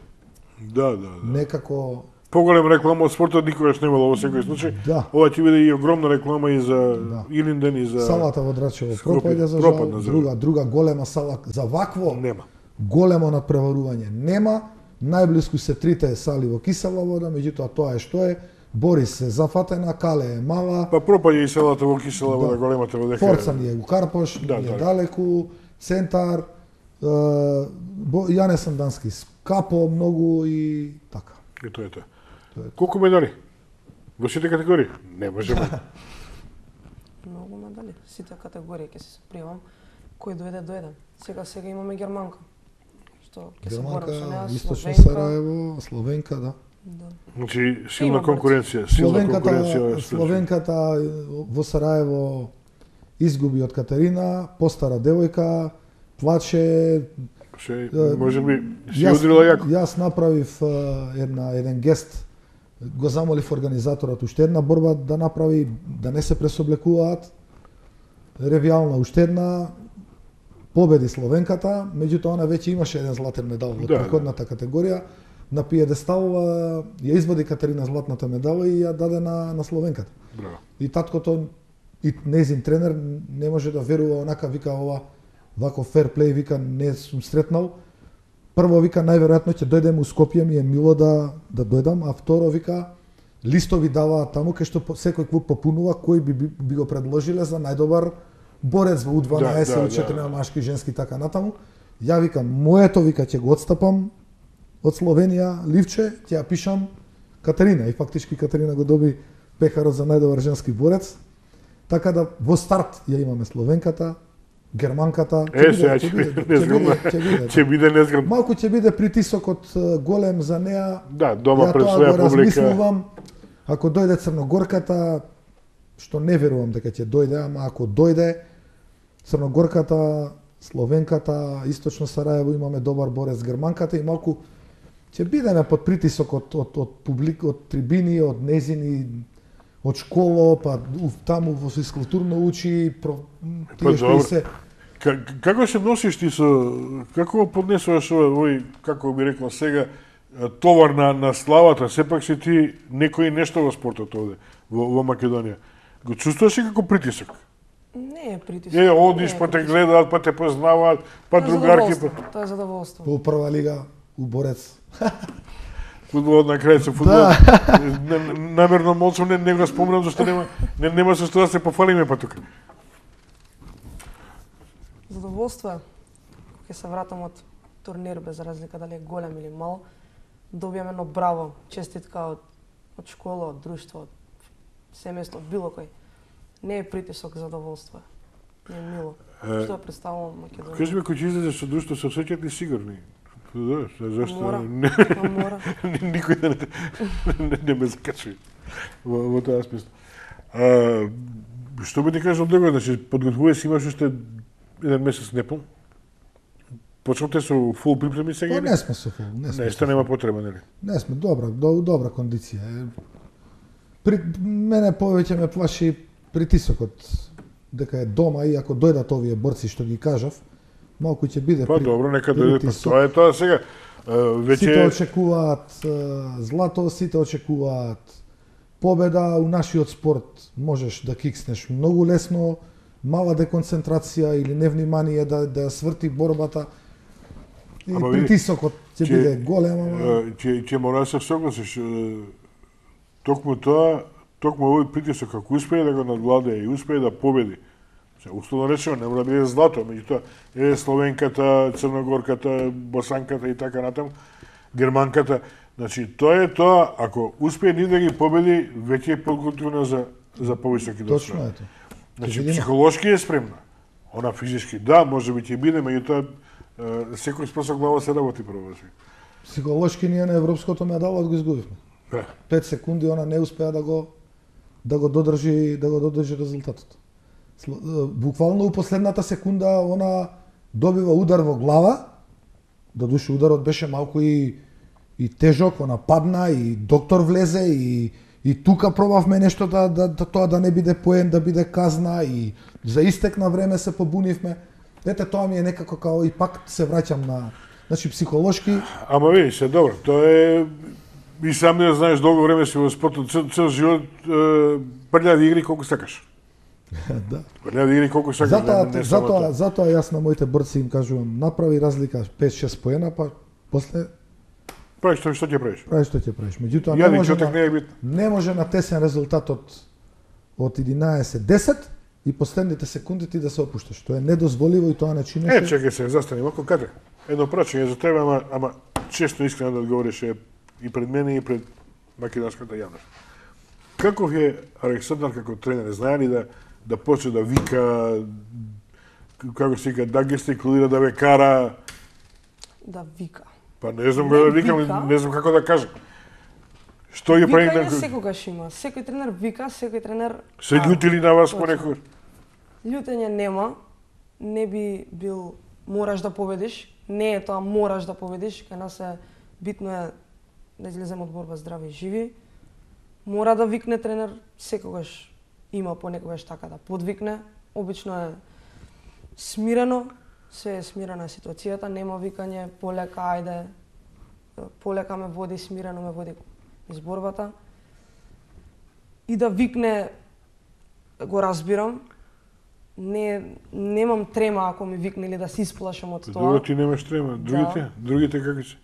Да. Некако поголема реклама од спортот никогаш немало во секој случај. Да. Ова ќе биде и огромна реклама и за Илинден и за салата во Драчево. Пропаѓа за жал, друга голема сала за вакво нема. Големо надпреварување нема. Најблиску се трите сали во Кисела вода, меѓутоа тоа е што е. Борис се зафатена, Кале е мала. Па пропаѓа и салата во Кисела вода, големата во дека. Форца ни е у Карпош, е далеку, Центар, Јане Сандански, скапо многу и така. И тоа е тоа. Колку медали? Во сите категории? Не можеме. Многу медали. Сите категории ќе се пријавам. Кој дојде. Сега имаме германка. Што ќе се борам со неа, Источно Сараево, Словенка, да. Значи, силна конкуренција, Словенката во Сараево изгуби од Катерина, постара девојка, плаче. Може би си удрила јако. Јас направив еден гест, го замолив организаторот уште една борба да направи, да не се пресоблекуваат. Ревијална уште една, победи Словенката, меѓутоа она веќе имаше еден златен медал во претходната категорија. На пиедестал ја извади Катерина златната медала и ја даде на Словенката. Браво. И таткото и нејзин тренер не може да верува, онака вика вако фер плей, вика не сум сретнал. Прво вика најверојатно ќе дојдем у Скопје, ми е мило да дојдам, а второ вика листови даваат таму кај што секој клуб попунува кој би го предложиле за најдобар борец во U12 или 4 машки, женски така натаму. Ја викам моето вика ќе го отстапам од Словенија ливче, ќе ја пишам Катерина и фактички Катерина го доби пехарот за најдобар женски борец. Така да во старт ја имаме Словенката, германката, ќе биде незграбно. Малку ќе биде притисокот голем за неа. Да, дома пред своја публика. Ако дојде Црногорката, што не верувам дека ќе дојде, ама ако дојде Црногорката, Словенката, Источно Сараево имаме добар борец, германката и малку ќе бидеме под притисок од публика, од трибини, од незини, од школо, па таму во физкултурно учи, тие што се. Како се носиш ти со, како поднесуваш овој, како би рекол сега, товар на славата, сепак си ти некој нешто во спортот овде, во Македонија. Го чувствуваш ли како притисок? Не е притисок. Одиш, па те гледаат, па те познаваат, па другарки. Тоа е задоволство. Во прва лига, у борец. Фудбалот на крај се фудбал. Намерно молчам, не го спомнам, зашто нема со што да се пофалиме па тука. Задоволство е. Ќе се вратам од турнир, без разлика дали е голем или мал, добијам едно браво, честитка од школа, од друштво, од семејство, од било кој. Не е притисок, задоволство е. Не е мило. Што ја представувам Македонија. Кажи ми, кој ќе излезе со друштво, се осеќаат ли сигурни? Зашто? Мора. Никој не ме закачува во тоа смисла. Што би ти кажал друго, значи подготвуваш си, имаш уште еден месец непол. Почнавте со фул припреми сега? Не сме со фул, Нешто нема потреба, нели? Не сме, добра кондиција. Мене повеќе ме плаши притисокот дека е дома и ако дојдат овие борци што ги кажав, малку ќе биде добро, нека дојде, па тоа е тоа сега. Веќе сите очекуваат злато, сите очекуваат победа. У нашиот спорт можеш да кикснеш многу лесно, мала деконцентрација или невнимание да сврти борбата. И притисокот ќе биде голем. Ќе мора да се согласиш. Токму овој притисок, ако успее да го надвладее и успее да победи, условно речено, не мора да биде злато, меѓутоа Словенката, Црногорката, Босанката и така натаму, Германката. Значи, тоа е тоа, ако успее ни да ги победи, веќе е подготвена за повисоки достои. Точно е тоа. Значи, психолошки е спремна. Она физички, да, може би ќе биде, меѓутоа секој спаса глава се работи прво. Психолошки ние на европското медалот го изгубивме. 5 секунди она не успеа да го додржи резултатот. Буквално у последната секунда она добива удар во глава, додуше ударот беше малку и тежок, она падна и доктор влезе и тука пробавме нешто тоа да не биде поен, да биде казна и за истек на време се побунивме. Ете, тоа ми е некако као и пак се враќам на, значи психолошки. Ама видиш, добро, тоа е и сам не знаеш долго време си во спортот, цел живот прљави игри колку сакаш. Да. Прљави игри колку сакаш. Затоа јас на моите борци им кажувам, направи разлика 5-6 поена, па после правиш што ќе правиш. Правиш што ќе правиш. Меѓутоа не може на тесен резултат од 11-10 и последните секунди ти да се опушташ. Тоа е недозволиво и тоа не чинеше. Чекај се, застани малку, каде? Едно прашање за тебе, ама често искрено да одговориш и пред мене и пред македонската јавност. Каков е Александар како тренер? Знае ли да почне да вика, како се вика, да гестикулира, да ве кара? Да вика. Па не знам како да викам, не знам како да кажам. Што ја прави Викање секогаш има. Секој тренер вика, секој тренер... Се љутили на вас понекогаш? Љутење нема. Не би бил мораш да победиш. Не е тоа мораш да победиш. Кај нас е битно е да излеземе од борба здрави и живи. Мора да викне тренер, секогаш има понекогаш така да подвикне. Обично е смирено, се е смирена ситуацијата, нема викање полека, ајде, полека ме води, смирено ме води из борбата. И да викне, го разбирам, немам трема ако ми викне или да се исплашам од тоа. Добро, ти немаш трема. Другите? Да. Другите како се?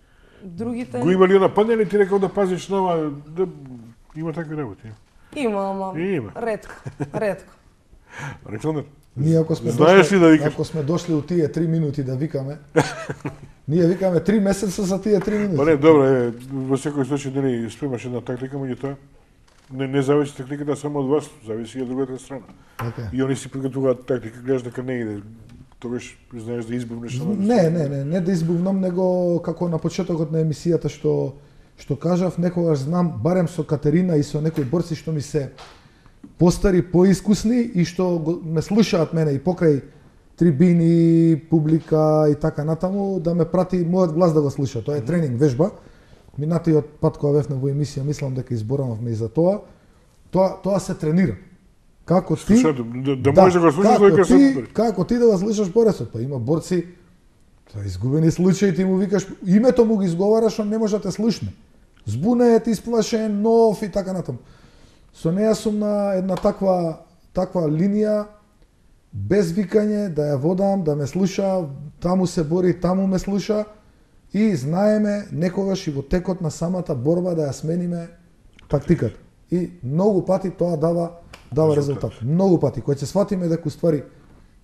Другите... Го има ли нападне или ти рекал да пазиш нова? Да... Има такви работи. Има, ама има. ретко. Александар, ние ако сме знаеш дошли, ли да викаш? Ако сме дошли од тие 3 минути да викаме, ние викаме 3 месеца за тие 3 минути. Па не, добро е, во секој случај дали спремаш една тактика, меѓутоа не зависи тактиката само од вас, зависи и од другата страна. Okay. И они си приготуваат тактика, гледаш дека не иде, тогаш знаеш да избувнеш. Не да избувнам, него како на почетокот на емисијата што кажав, некогаш знам, барем со Катерина и со некои борци што ми се постари, поискусни и што ме слушаат мене и покрај трибини, публика и така натаму, да ме прати мојот глас да го слуша. Тоа е тренинг, вежба. Минатиот пат кога бевме во емисија, мислам дека изборавме и за тоа. Тоа се тренира. Како ти да можеш да го слушаш дека се како ти да го слушаш борецот, па има борци тоа изгубени случаи, ти му викаш името му го изговараш, он не може да те слушне. Збунет, исплашен, нов и така натаму. Со неја сум на една таква линија без викање, да ја водам, да ме слуша, таму се бори, таму ме слуша и знаеме некогаш и во текот на самата борба да ја смениме тактиката. И многу пати тоа дава резултат. Многу пати кога ќе сватиме дека уствари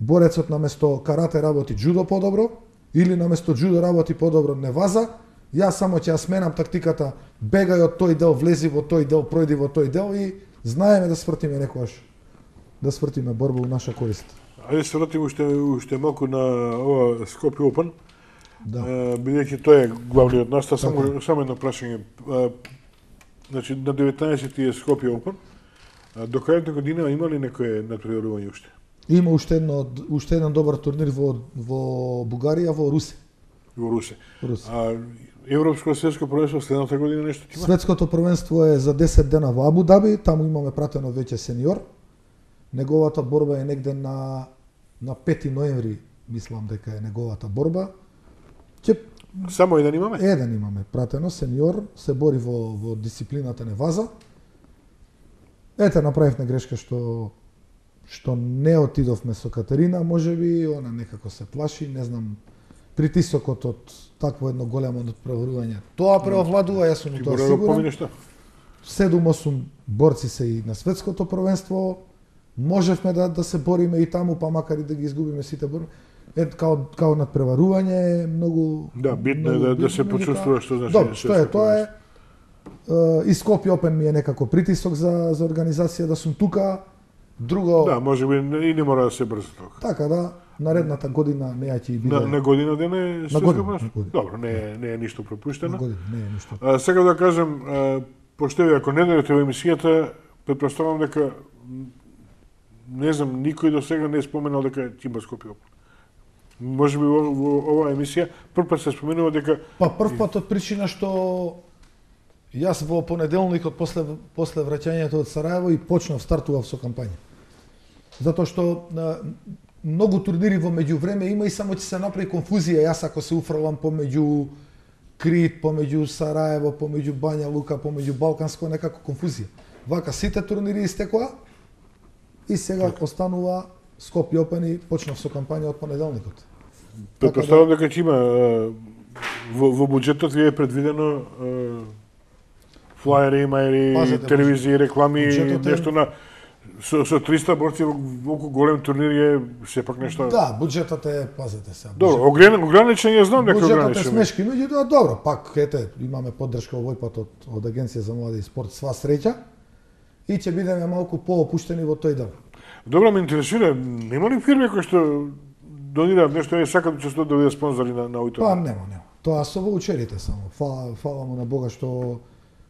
борецот наместо карате работи џудо подобро или наместо џудо работи подобро неваза, јас само ќе ја сменам тактиката, бегај од тој дел, влези во тој дел, пројди во тој дел и знаеме да свртиме некогаш. Да свртиме борба во наша корист. Ајде се вратиме уште малку на ова Скопје Опен. Да. Бидејќи тој е главниот настав, само едно прашање. Значи на 19 е Скопје Опен. До крајот на година има ли некое надпреварување уште? Има уште еден добар турнир во Бугарија, во Русе. Во Русе. Европско светско првенство следната година нешто ќе има? Светското првенство е за 10 дена во Абу Даби, таму имаме пратено веќе сениор. Неговата борба е негде на 5 ноември, мислам дека е неговата борба. Само еден имаме? Еден имаме пратено, сениор, се бори во дисциплината неваза. Ете, направивме грешка што не отидовме со Катерина, можеби она некако се плаши, не знам, притисокот од такво едно големо надпреварување. Тоа преовладува, јас сум тоа сигурен. 7-8 борци се и на светското првенство. Можевме да се бориме и таму, па макар и да ги изгубиме сите борби. Као надпреварување многу... Да, битно е да се почувствува што значи. Добро, што е, тоа е. И Скопје Опен ми е некако притисок за организација да сум тука. Друго... Да, можеби и не мора да се брзо тоа. Така да, наредната година не ќе биде... На година ден е светско првенство? Добро, не е ништо пропуштено. На година не е ништо. Сега да кажем, пошто ако не дојдете во емисијата, претпоставам дека не знам, никој до сега не е споменал дека ќе има Скопје Опен. Можеби во оваа емисија прв пат се споменува дека... Па прв пат од причина што јас во понеделникот после враќањето од Сараево и стартував со кампања. Затоа што многу турнири во меѓувреме има и само ќе се направи конфузија. Јас ако се уфрлам помеѓу Крит, помеѓу Сараево, помеѓу Бања Лука, помеѓу Балканско, некако конфузија. Вака сите турнири истекоа и сега останува Скопје Опен и почнав со кампања од понеделникот. Претпоставам дека ќе има во буџетот ви е предвидено флаери, мајери, телевизии, реклами, нешто на со 300 борци во голем турнир е сепак нешто. Да, буџетот е, пазете се. Добро, ограничен ја знам дека ограничен. Буџетот е смешки, меѓутоа добро, пак ете, имаме поддршка овој пат од Агенција за млади и спорт, сва среќа и ќе бидеме малку поопуштени во тој дел. Добро, ме интересира, нема ли фирми кои што донираат нешто и сакаат да учествуваат да бидат спонзори на овој турнир? Па нема. Тоа со воучерите само. Фала му на Бога што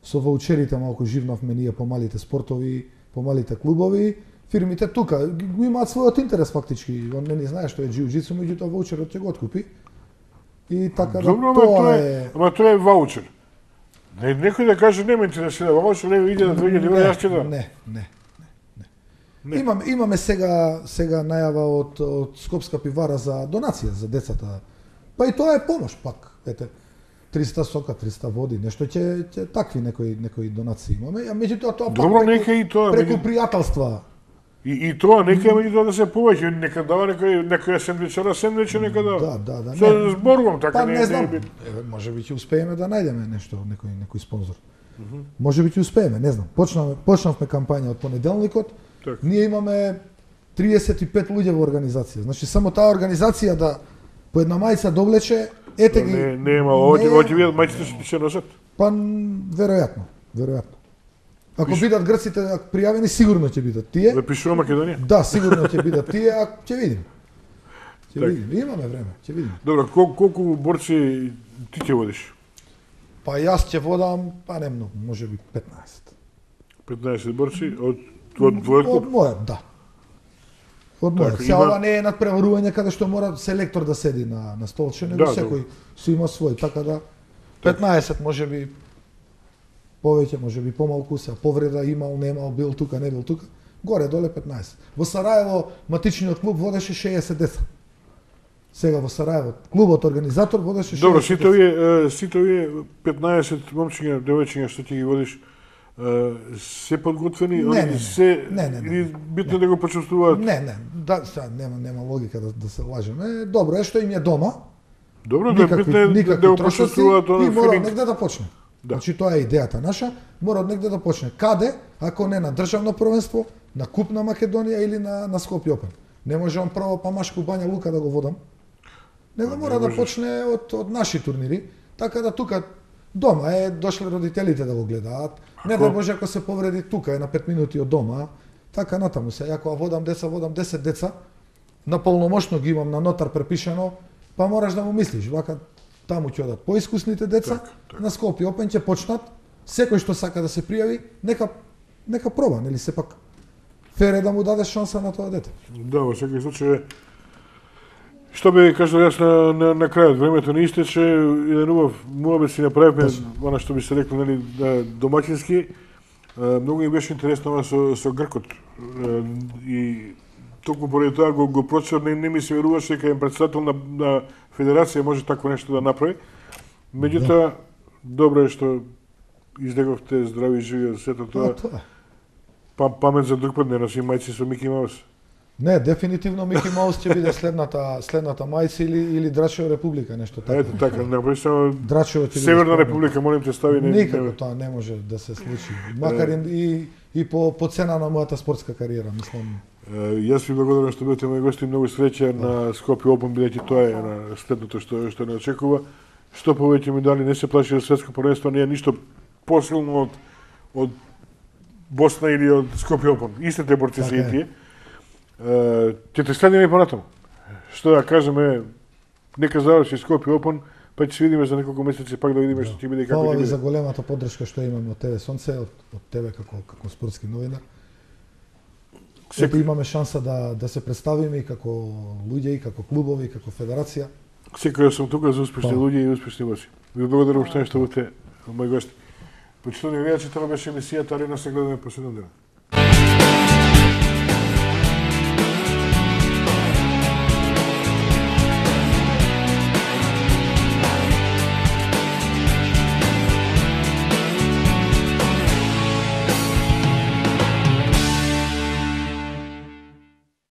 со ваучерите малку живнавме ние по малите спортови, по малите клубови. Фирмите тука го имаат својот интерес фактички. Он не знае што е џиу-џитсу, меѓутоа ваучерот ќе го откупи. И така да тоа е... Ама тоа е ваучер. Некој да каже не ме интересира ваучер, не иде на 2000 евра, јас ќе да. Не. Имаме сега најава од Скопска пивара за донација за децата. Па и тоа е помош пак, ете. 300 сока, 300 води, нешто ќе такви некои донации имаме, а меѓутоа тоа добро, нека и тоа преку пријателства. И тоа нека меѓутоа да се повеќе, нека дава некоја сендвиче нека дава. Да. Се зборувам така, не знам. Може би ќе успееме да најдеме нешто, некој спонзор. Може би ќе успееме, не знам. Почнавме кампања од понеделникот. Ние имаме 35 луѓе во организација. Значи само таа организација да по една мајца довлече, ете ги. Нема, оќе видат мајците што ќе носат. Па веројатно. Ако бидат грците пријавени, сигурно ќе бидат тие. Да пишува Македонија? Да, сигурно ќе бидат тие, а ќе видим. Имаме време, ќе видим. Добро, колку борци ти ќе водиш? Па јас ќе водам, па не многу, можеби 15. 15 борци од твојот клуб? Од мојот, да. Од мојот. Се ова не е надпреварување каде што мора селектор да седи на столче, него секој си има свој, така да 15 можеби повеќе, можеби помалку, се повреда имал, немал, бил тука, не бил тука. Горе доле 15. Во Сараево матичниот клуб водеше 60 деца. Сега во Сараево клубот организатор водеше 60 деца. Добро, сите овие 15 момчиња, девојчиња што ти ги водиш, се подготвени, или битно да го почувствуваат? Не, да, нема логика да се лажеме. Добро е што им е дома. Добро, да битно да го почувствуваат и мора негде да почне. Значи тоа е идејата наша, мора негде да почне. Каде, ако не на државно првенство, на Куп на Македонија или на Скопје Опен. Не може он прво Памашку Бања Лука да го водам. Него мора да почне од наши турнири, така да тука дома дошле родителите да го гледаат. Не да може ако се повреди тука на 5 минути од дома, така натаму се. Ако водам 10 деца, на полномошно ги имам на нотар препишано, па мораш да му мислиш, вака таму ќе одат поискусните деца, на Скопје Опен ќе почнат, секој што сака да се пријави, нека проба, нели сепак фер е да му дадеш шанса на тоа дете. Да, во секој случај, што би кажал јас на крајот, времето не истече, еден убав муабет си направивме, она што би се рекло, нели, домаќински, многу ми беше интересно ова со Гркот, и токму поради тоа го прочитав, не ми се веруваше дека е претседател на федерација може такво нешто да направи. Меѓутоа, добро е што излеговте здрави и живи од сето тоа. Памет за друг пат, не носи мајци со Мики Маус. Не, дефинитивно Мики Маус ќе биде следната мајца или Драчева република, нешто така. Ето така, направи само Драчева Северна република, молим те стави. Никако тоа не може да се случи. Макар и по цена на мојата спортска кариера, мислам. Јас ви благодарам што бевте мој гости, многу среќа на Скопје Опен, бидејќи тоа е на следното што не очекува. Што повеќе медали, не се плаши од светско првенство, не е ништо посилно од Босна или од Скопје Опен. Истите борци се и тие. Ќе те следиме и понатаму. Што да кажеме, нека заврши Скопје Опен, па ќе се видиме за неколку месеци, пак да видиме што ќе биде и како ќе биде. Фала ви за големата поддршка што имаме од тебе Сонце, од тебе како спортски новинар. Ето имаме шанса да се представиме и како луѓе, и како клубови, и како федерација. Секој сум тука за успешни луѓе и успешни борци. Ви благодарам што бевте мој гости. Почитувани гледачи, тоа беше емисијата Арена, се гледаме по 7 дена.